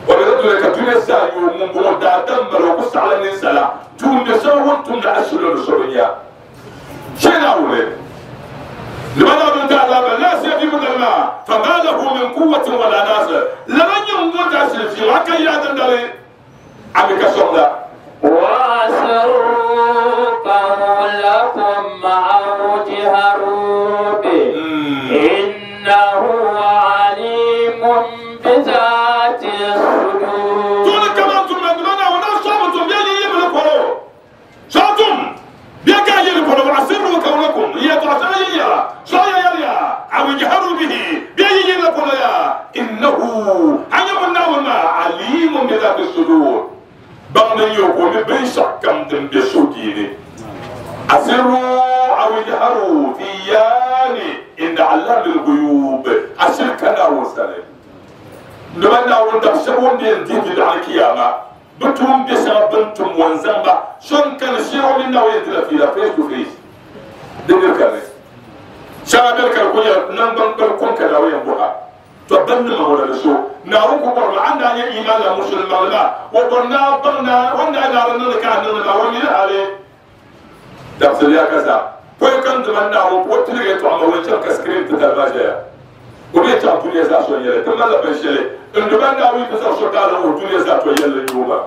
wala da dole ka tune sa yo mun bo da dan baro ko sala ni sala tunde so won tunde asulu soriya shena wule لماذا من تعلم لا سيدي من الماء فما له من قوة ولا ناصر لمن يموت أسل في وكا يا دندري أبيك صلى وأسروا قولكم أو بذات الصدور تقول كما أنتم من ولا صابتم بيجي يبلغ قولوا صابتم بيجي يبلغ قولوا أسروا قولكم هي تعطي يا صايا يا أو يجهروا به بيجي يبلغ قولوا يا إنه أنا من عليم بذات الصدور بمن يقوم بشكم دم بسوديني أسروا أو يجهروا فياني إن علام الغيوب أشركنا وسلم نبنا وندفشون دين على القيامة بتوم بسبب وانزمبا شون كان شيرو من ناوي تلفي لا فيس تو فيس دبر كان شابر كان كل نمبر كل كان ناوي يبوها تبن ما ولا لسو نارو كبر عندنا إيمان مسلم لا وبرنا برنا ونا نارنا كان نارنا ومن عليه دخل يا كذا ويكن دمنا وتلقي تعمل وين كسكرين تتباجيا وبيت الدنيا زاشون يلا تم لا بنشلي إن دمنا ويكسر شكاله والدنيا زاتو يلا يوما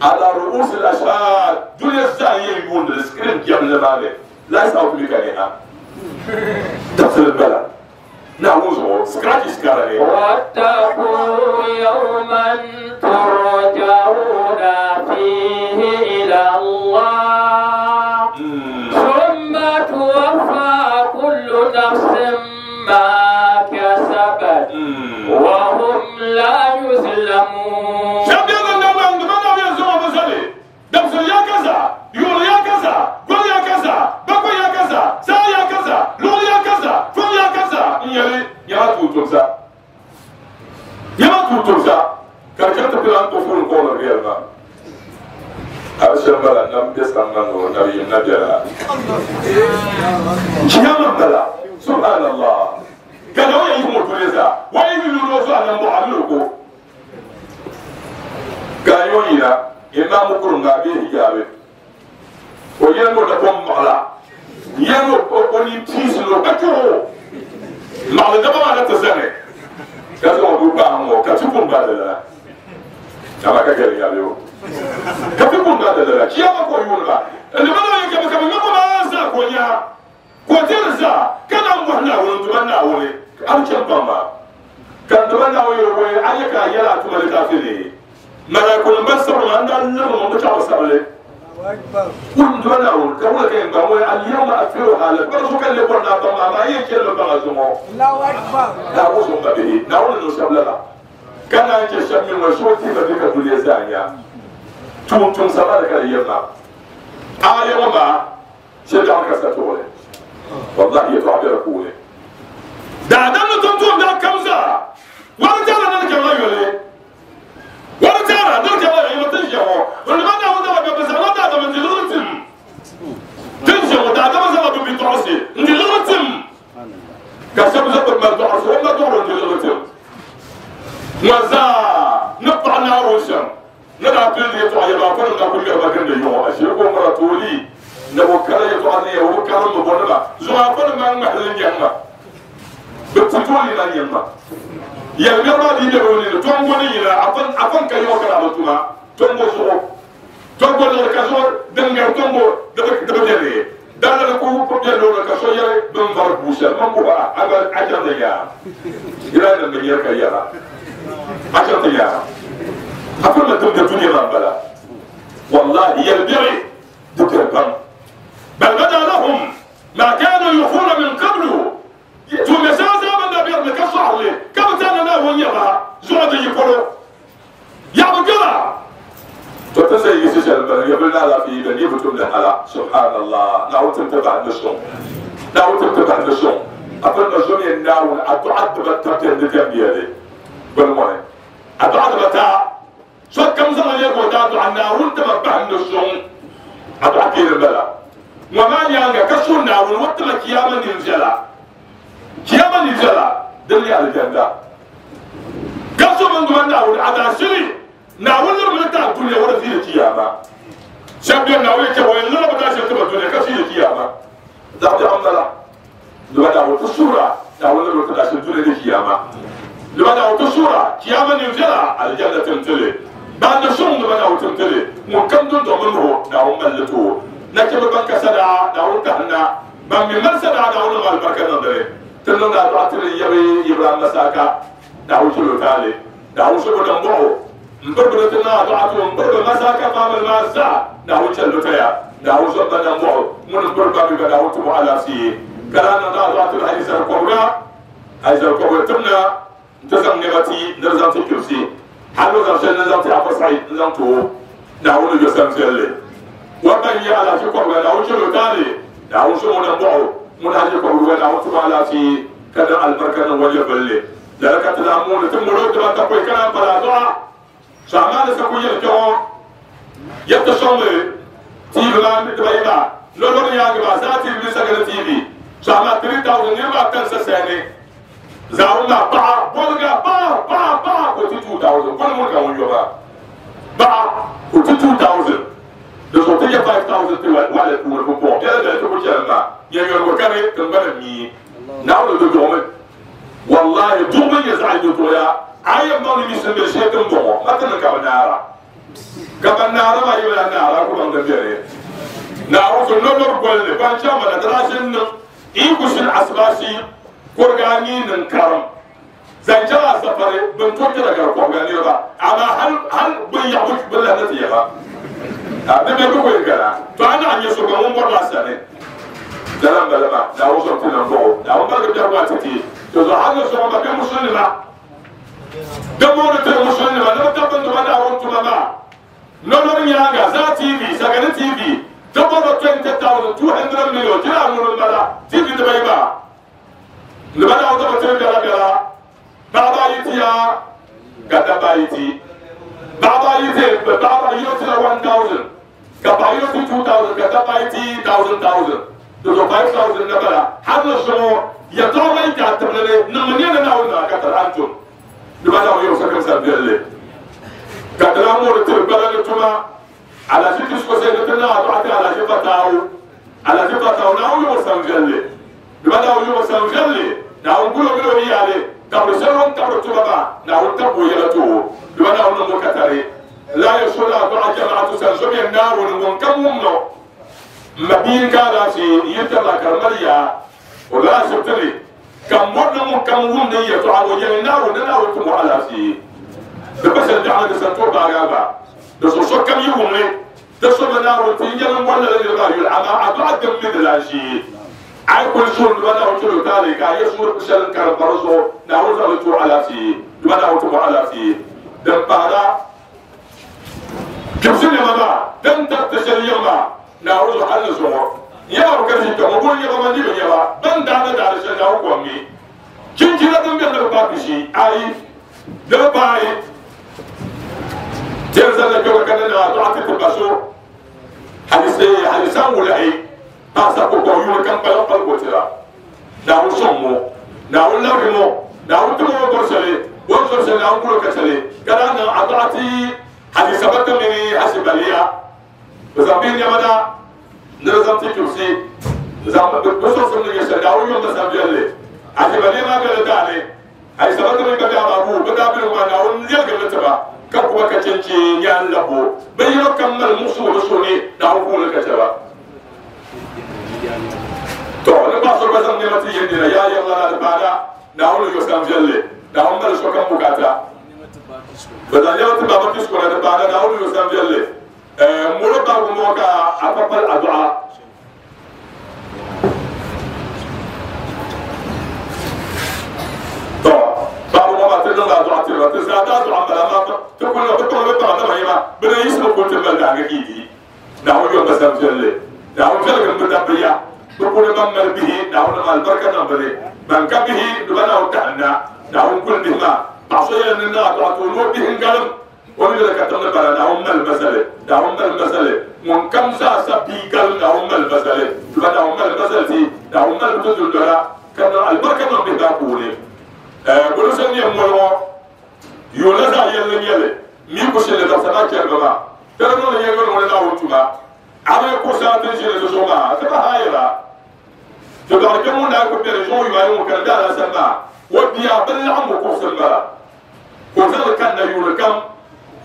على رؤوس الأشهاد دنيا زاهية يقول السكرين جاب لبالي لا يسأل ميكانيها دخل البلد نعوزه سكراتي سكراني واتقوا يوما ترجعون فيه إلى الله ثم توفى كل نفس ما كسبت وهم لا يظلمون. شبيان النوم عندما يزوم بزلي دمس يا كذا يقول يا كذا قول يا كذا بقول يا كذا سا يا كذا لول يا كذا فول يا كذا يلي يا توتوسا يا توتوسا كركت بلان تفول قول الريال ما أبشر بلا نم بسنا نبي نبي كيام بلا سبحان الله كانوا يهموا تريزا ويملوا روزا نمو عملوكو كانوا يلا إمام كرنا به جابه وينو لكم مغلا ينو أولي تيس لو كتو مغلا دبا ما تزني كذا أبو بامو كتكون بدلا أما كجري يا بيو كتكون بدلا كيا ما كويونا اللي بدأ يكمل كمل ما ما كونيا كوتيرزا كان أمبنا ونتمنى ولي أمشي بابا كان تمنى ويروي أيك يلا تملك أفيني ما يكون بس ما عندنا لما ما بتشعر سبلة ونتمنى ول كم كان بقول اليوم أفيرها على برزق اللي قلنا بما ما يجي لما بغزمه الله أكبر لا وصل به نقول إنه سبلة كان عندي شاب من مشروع تيما بك الدنيا زانيا تون تون سبلة اليوم اليوم شجع كسرته والله يتعبر كوله دا دم تون دا كمزة ورجع لنا كمان يولي ورجع لنا كمان يولي تنجحوا ولما دا ودا بس ما دا من دلوقتي تنجحوا دا دا مثلا بيتعصي دلوقتي كسب زبر ما تعصي وما تعرف دلوقتي مزا نقطع ناروشم نلعب اللي يطلع يبقى فلنا كل ما كان يوم أشيكم مرتولي نبوكلا يطلعني وكرم مبونما زعفر ما محل يما بتقولي لا يما يا مرة دي بيقولي تونغوني لا أفن أفن كيو كلا بتوما تونغو سو تونغو لكاسور دنيا تونغو دبك دبجري دانا لكو بجلو لكاسور يا بنفر بوشة ما هو أبر أجل يا إلى أن يركا يا أجل يا أفن ما تبدأ الدنيا ما بلا والله يلبري دكتور بام بل بدا لهم ما كانوا يخفون من قبل ثم سازا من نبي لك صحلي كم كان له يرى زود يقولوا يا بقرة تتسي يسجل بل يبلنا لا في بل يبتم لها سبحان الله نعود تبع النسوم نعود تبع النسوم أفن النسوم يناول أتعد بتاع الدنيا بالمهم أتعد بتاع شو كم زمان يقول دادو عن ناول تبع النسوم أتعد البلا وما يانغا كسر ناول وقت كياما ننزلا كياما ننزلا دلي على الجنة كسر من دون ناول على سري ناول لما نتاع الدنيا ولا في الكيامة شاب ناول كوين لما بتاع شاب الدنيا كسر الكيامة ده عملا لما ناول الصورة ناول لما بتاع الدنيا الكيامة لما ناول الصورة كياما ننزلا على الجنة تمتلي بعد شو لما ناول تمتلي وكم دون ضمنه ناول ملته نكتب بنك سدعة داون كهنا من من سدعة داون مال بركة نظري تلنا دعاء يبي يبرام مساكا Naawuni chɛlo taali Naawuni so bi niŋ bɔɣu n biri bi ti naa dɔɣa to n biri bi masaka faamili maa zaa Naawuni chɛli bi taya Naawuni so ba niŋ bɔɣu ŋuni n biri ba mi ba Naawuni ti bɔ alaafee ka daa niŋ daa dɔɣa ti alizar kɔbiga alizar kɔbiga timna n ti zaŋ nɛma ti ni di zaŋ ti kpibisi hali o zaŋ shɛli ni zaŋ ti Afa Said n zaŋ ti o Naawuni yo sam viɛlli wa ban nyɛ alaafee kɔbiga Naawuni chɛlo taali Naawuni so ŋuni n bɔɣu ŋuni haji kɔbiga Naawuni ti bɔ alaafee ka niŋ alibarika niŋ wa nyɛvulli lala ka ti lahi mooni ti molo diba ta pɔi ka naan pala dɔɣa so amaa ni sa ku yɛli kpɛŋɔ yɛtti sɔŋmi T V maa dibayi maa lɔlɔri nyaangi maa zaa T V mini sagani T V so amaa three thousand niriba ata n sa sayani zaawuni maa paɣa bɔliga paɣa paɣa paɣa ka o ti two thousand kɔni ŋuni ka ŋun yɔ maa paɣa ka o ti two thousand di zuɣu ti nyɛ five thousand ti waɣala puuni pumpɔŋɔ biɛla biɛla ti ku chɛni maa nyɛ yɔligu kani tingbani mii Naawuni di duɣumi wallahi duɣumi nyɛ zaɣ yɛltɔɣa a yɛn baŋ ni misi bɛ shee din bɔŋɔ ma ti niŋ ka bi naara ka ban naara maa yi bi lahi naara ku baŋ din bɛni Naawuni so lɔlɔri golli ban chaŋ ma na di daa ʒini niŋ n ku shini asibaasi kuriga anii niŋ karim zaŋ chaŋ a safari bin to kpɛra gari kɔbiga niriba amaa hali hali bin yaɣabu bin lahi na ti yɛba a di bɛ bi ku gana to a naɣ nyɛ so gba ŋun bɔrila sani lala n bala maa Naawuni so ti niŋ bɔɣu Naawuni barigi biɛhigu maa ti ti to zuɣu hali ni sɔŋɔ ma bɛ musulinima di mooni tiri musulinima ni bi tabi tuma Naawuni tuma maa lɔlɔri nyaanga zaa T V sagani T V di bɔrɔ twenty thousand two hundred million jira ŋuni n bala T V dibayi maa ni ba Naawuni daba tiri biɛla biɛla paɣaba ayi tiya ka dabba ayi ti paɣaba ayi ti paɣaba yino tila one thousand ka paɣa yino ti two thousand ka dabba ayi ti thousand thousand di zuɣu five thousand na bala hali ni sɔŋɔ yɛltɔɣa ma yi ka tibili ni niŋmi niɛni Naawuni maa ka tiri antum di ba Naawuni yɛrɛ sokam sa viɛlli ka ti lahi moori tiri gbala ni tuma alaji ti sɔsɛ ni ti naa dɔɣa ti alaji fataawu alaji fataawu Naawuni yɛrɛ sam viɛlli di ba Naawuni yɛrɛ sam viɛlli Naawuni gulo mini o yaali tabiri shɛli o ni tabiri tuma maa Naawuni tabi o yɛla ti o di ba Naawuni niŋ o ka tari la yɛ so la dɔɣa jamaatu san so bɛ Naawuni ŋun kam wum no ma bia n ka alaafee n yi tarila ka di mali yaa o lala ashibiti ni ka mɔri ni ŋun kam wum ni yɛltɔɣa o yɛli Naawuni ni Naawuni ti mo alaafee di pa shɛli biɛɣu ni di san tooi baagi a gba di zuɣu sokam yi wumli di so bi Naawuni ti n yɛli n bɔri lala niriba maa yuli amaa a dɔɣa dim mi di lan ʒee a yi kuli suuri di ba Naawuni chɛlo taali ka a yɛ suuri shɛli n karim pa di zuɣu Naawuni zaŋli ti o alaafee di ba Naawuni ti mo alaafee din pahila kpibisi nɛma maa din tariti shɛli yiŋ maa Naawuni zuɣu hali ni zuɣu nyɛba bi ka ʒi kpɛ ŋɔ boli nyɛba ma ni bi nyɛba ban daani daani shɛli Naawuni kom mi chinchina din bɛni ni bi paai pishi ayi di bi paai tɛri zalla kpɛba ka ni naa dɔɣa ti ti ba so hadisi hadisan wulahi paɣasa ko kɔŋ yuuni kam kpaliŋ kpali ko tira Naawuni sɔŋ mo Naawuni labigi mo Naawuni timi o bɔri shɛli o ni zɔri shɛli Naawuni gulo ka shɛli ka daa niŋ a dɔɣa ti hadisa bata mini hashibaliya bi zaŋ bihi nɛma na ni di zaŋ ti kpibisi zaŋ bi sɔŋsim ni nyɛ shɛli Naawuni yom bi sam viɛlli hashibaliya maa bɛla daani hadisa bata mini babi amabu bi daa biligu maa Naawuni yɛligimi tiba ka kuba ka chenche nyaan labo bi yino kam mali muɣusigu bi suhu ni Naawuni puuni ka chɛba to ni paɣa so gba zaŋ nɛma ti yɛn nina yaa yɛrila na di paana Naawuni yo sam viɛlli Naawuni mali sokam bukata bi zaŋ nɛma ti baba kisko na di paana Naawuni yo sam viɛlli molo babu ŋɔ ka a pa pali a dɔɣa to babu ŋɔ maa ti niŋla a dɔɣa tiriba ti zaa daa dɔɣa n bala maa ti kuli bi kpaŋ bi paɣa dama yɛma bi ni yiɣisi bi kuli ti mali daangi kiidi Naawuni yom bi sam viɛlli Naawuni viɛlgim bi dabba ya bi kuli ban mali bihi Naawuni niŋ alibarika niŋ bi ni ban ka bihi di ba Naawuni tahinna Naawuni kuli bihi maa paɣa so yɛli ni niŋ a dɔɣa ti o ni o bihi n galim o ni yɛli ka tiŋ ni bala Naawuni mali masali Naawuni mali masali ŋun kam zaa sa bia galim Naawuni mali masali di ba Naawuni mali masali ti Naawuni mali bi ti dundɔna ka niŋ alibarika niŋ bihi maa puuni bolo so nyɛ moli ŋɔ yoona zaa yɛlli nyɛli mi ku shɛli dabisa maa chɛri bi maa tɛri niŋli nyɛ ŋuni ŋuni Naawuni tuma a bi kuɣusi a ti ʒini di zuɣu maa ti pa haayira ti dɔɣi kpɛ ŋun daa ku bɛni zuɣu yuwa ŋun kani daa sani maa o bia bi laɣim bi kuɣusi n bala ka o zaŋli kanna yuuni kam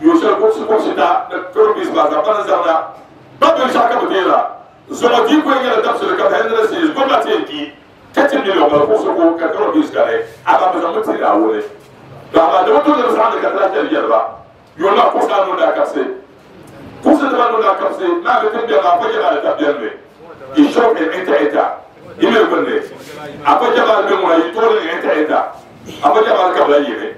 yuun shɛli kuɣusi kuɣusi ta ni turbiis maa zaŋ pani zaŋna ba binshaɣu ka bi deera zuɣu dii ku nyɛla dabisili kam hundred series gomnati yɛn di thirty million bala kuɣusi ko ka turbiis kani amaa bi zaŋmi ti Naawuni Ba da wato da sa da ka ta yarba yona ko sa no da kapse ko sa da no da kapse na ga tin da ba fa jaba da tabiyan ne isho ke enta enta ime bande afa jaba be mo yi to ne enta enta afa jaba ka bla yire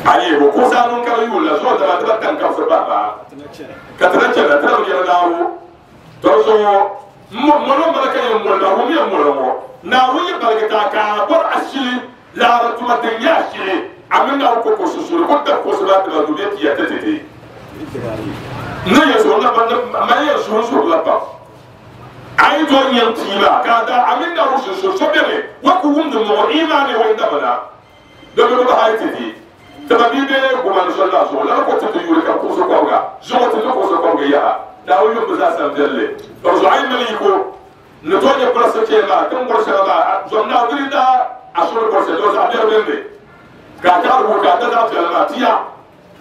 ayi ko sa no ka yula so da ba tan ka fa ba ba ka tana ce da tana ya dawo to so mo mo no malaka ya mo na mo ya mo mo na wo ya barka ta ka bor ashili la ratuma tin ya ashili amina ko ko susuru ko ta ko sala ta du ti ya tete ne ya so na ba ma ya so so la pa ai do nyen ti ba ka da amina ko susuru so bele wa ku wum mo imani wa inda bana do do ba hay tete tababi be ko man so la so la ko tete yuri ka ko so ko ga zo ko tete ko so ko ga ya da wo yum za sam delle to zo ai mali ko ne to ne place ke ma kan ko sa ba zo na gri da asoro ko se do za be be ka ta ru ka ta da ta ma tiya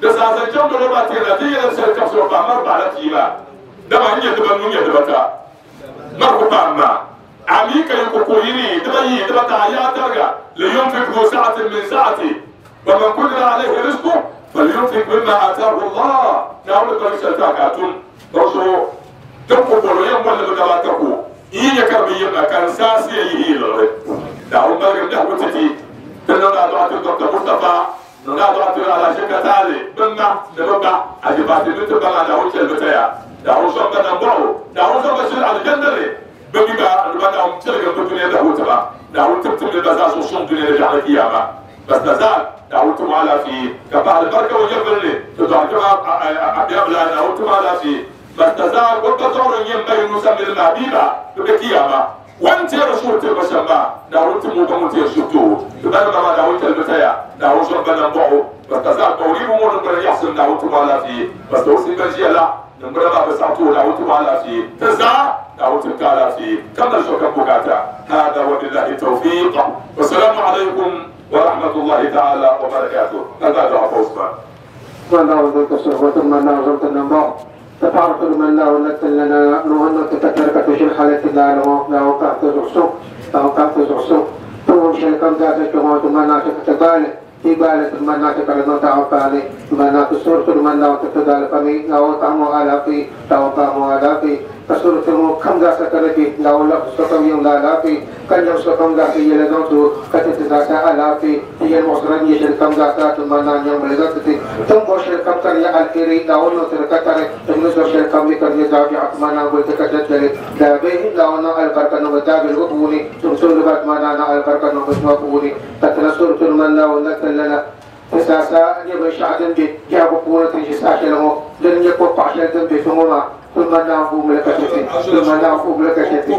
da sa sa jom do ba tiya da ya se ka so ba mar ba la tiya da ba ni da ba nu ya da ba ta mar ko pa ma ami ka ko ko yini da ba yi da ba ta ya targa li yunfiq du sa'atin min sa'ati wa man qadara alayhi rizquhu falyunfiq mimma ataahu Allah na wala ko sa ta ka tun do so to ko ko ya mo da ba ta ko yi ya ka bi ya kan sa si yi yi lo da o ba ga da ko titi تنونا دعاة الدكتور مصطفى نونا دعاة على شركة تالي بنا نبقى أجبات نتبقى على وجه البتاع دعوا صبنا نبعو دعوا صبنا شر على الجنة بقى نبقى أم تلقى الدنيا دعوا تبع دعوا تبتم لبزاز وصوم دنيا رجع القيامة بس نزال دعوا تم على في كبع البركة ويبرني تدعوا كما أبيض دعوا تم على في بس نزال وبتصور ينبغي نسمي المبيبة بالقيامة وانت يا رسول تبشر ما دعوت مو بموت يا شتو تبان ما دعوت البتاع دعوت ربنا نبعو بس تزال توريب مو نبر يحسن دعوت ما في بس توصي بنجي لا نبر ما بس عطو دعوت ما في تزال دعوت كالا في كم شكا بوكاتا هذا وبالله التوفيق والسلام عليكم ورحمة الله تعالى وبركاته هذا دعاء عثمان والله ذيك الصحبة من لا زلت النبع تفعرت من لا ولدت لنا نوهن تتكرك في حالة لا لا وقعت زعسو لا وقعت زعسو ثم شركم ذات الجماعة ما ناتك تبالي في بالة ما ناتك لنا تعفاني ما نات سورة من لا تتدال فمي لا وطعم آلافي لا وطعم آلافي فسورة كم ذات سكرتي لا ولا سكم يوم لا لافي كان يوم سكم ذات يلدوتو كتت ذات آلافي هي المصرن يشركم ذات ما نا يوم لذاتي ثم شركم تري الكري لا ولا تركتر ثم شركم يكر يزافي عثمان قلت كتت لا به لا ولا البركة نبتاب الغبوني ثم سورة ما نا البركة نبتاب تتنصر من لا ولا لنا تساسا يبي شعدن بي جابوا قوة تنجساش لهم لن يقوى عشان بي ثم ثم نعفو ملك شتي ثم نعفو ملك شتي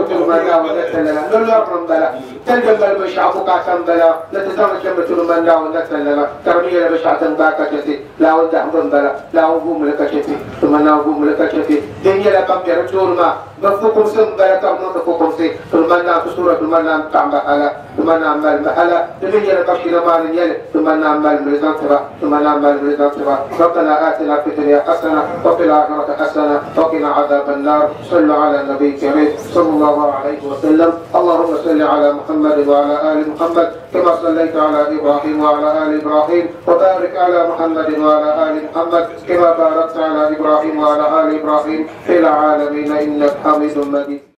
ثم نعفو لنا لا بلا تلجم بشعب قاسم بلا لا تزام كم ثم نعفو لنا ترمي بشعة باك شتي لا ودع بلا لا عفو ملك شتي ثم نعفو ملك شتي دنيا لا كم يرجون ما بفوكم سم بلا كم نفوكم سي ثم نعفو سورة ثم نعم تعمل على ثم نعمل محلا دنيا لا بشر ما نيل ثم نعمل ملزم تبع ثم نعمل ملزم تبع ربنا آتنا في الدنيا حسنة وفي الآخرة حسنة وقنا عذاب النار. صلوا على النبي الكريم صلى الله عليه وسلم. اللهم صل على محمد وعلى آل محمد كما صليت على إبراهيم وعلى آل إبراهيم، وبارك على محمد وعلى آل محمد كما باركت على إبراهيم وعلى آل إبراهيم في العالمين إنك حميد مجيد.